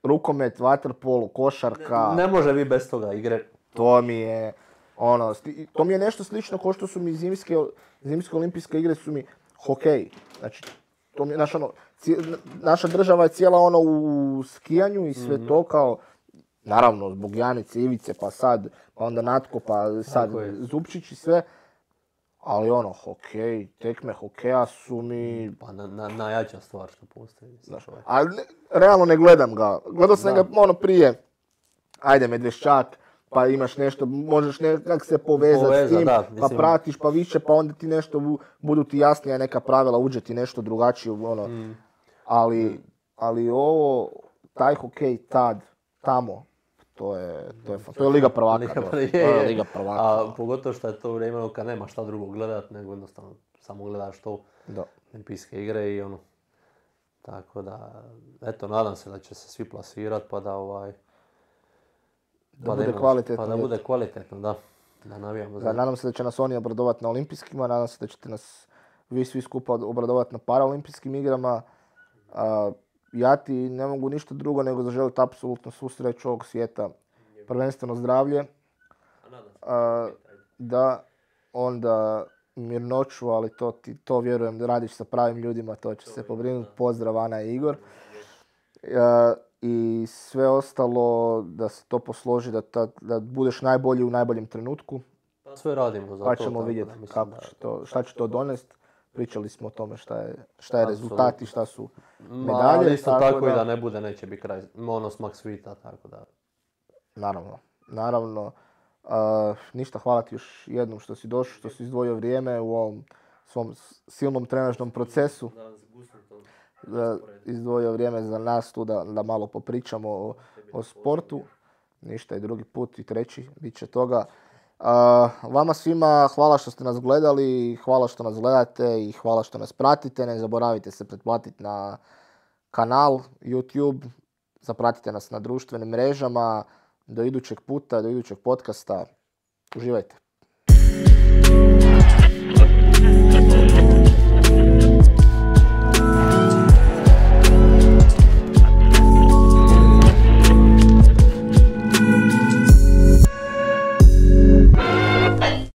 rukomet, vaterpolo, košarka... Ne, ne može vi bez toga igre. To mi je... Ono, to mi je nešto slično kao što su mi zimske, zimske olimpijske igre su mi hokej. Znači, to mi je naša, ono, naša država je cijela ono u skijanju i sve mm-hmm. to kao, naravno, zbog Janice, Ivice, pa sad, pa onda Natko, pa sad Zupčić i sve. Ali ono, hokej, tekme hokeja su mi... Pa na, na, najjača stvar što postoji. Znaš, ali ne, realno ne gledam ga. Gledao sam da. ga ono prije, ajde Medveščak, pa imaš nešto, možeš nekak se povezati Poveza, s tim, da, pa pratiš pa više, pa onda ti nešto, budu ti jasnija neka pravila, uđe ti nešto drugačije, ono. Mm. Ali, ali ovo, taj hokej tad, tamo, to je, to je, to je Liga prvaka. Liga, je, je. je Liga prvaka. A pogotovo što je to vrijeme kad nema šta drugo gledat, nego jednostavno samo gledaš to olimpijske igre i ono. Tako da, eto, nadam se da će se svi plasirat pa da ovaj... Da, pa, bude kvalitetno, pa da bude kvalitetno, da. Da navijamo za... Da, nadam se da će nas oni obradovati na olimpijskima, nadam se da ćete nas vi svi skupa obradovati na paraolimpijskim igrama. A, ja ti ne mogu ništa drugo nego zaželiti apsolutno svu sreću ovog svijeta. Prvenstveno zdravlje. A, da, onda mirnoću, ali to, ti, to vjerujem da radiš sa pravim ljudima, to će se pobrinuti. Pozdrav Ana i Igor. A, I sve ostalo da se to posloži, da, ta, da budeš najbolji u najboljem trenutku. Sve radimo za to. Pa ćemo vidjeti kako će to, šta će to donesti. pričali smo o tome šta je, šta je Apsolutno. rezultat i šta su Ma, medalje. ali isto tako, tako i da ne bude, neće biti kraj. Ono smak svita, tako da. Naravno, naravno. Uh, ništa, hvala ti još jednom što si došao, što si izdvojio vrijeme u ovom svom silnom trenažnom procesu. Da, izdvojio vrijeme za nas tu da, da malo popričamo o, o sportu. Ništa, i drugi put i treći, bit će toga. Uh, vama svima hvala što ste nas gledali, hvala što nas gledate i hvala što nas pratite. Ne zaboravite se pretplatiti na kanal YouTube, zapratite nas na društvenim mrežama. Do idućeg puta, do idućeg podcasta. Uživajte.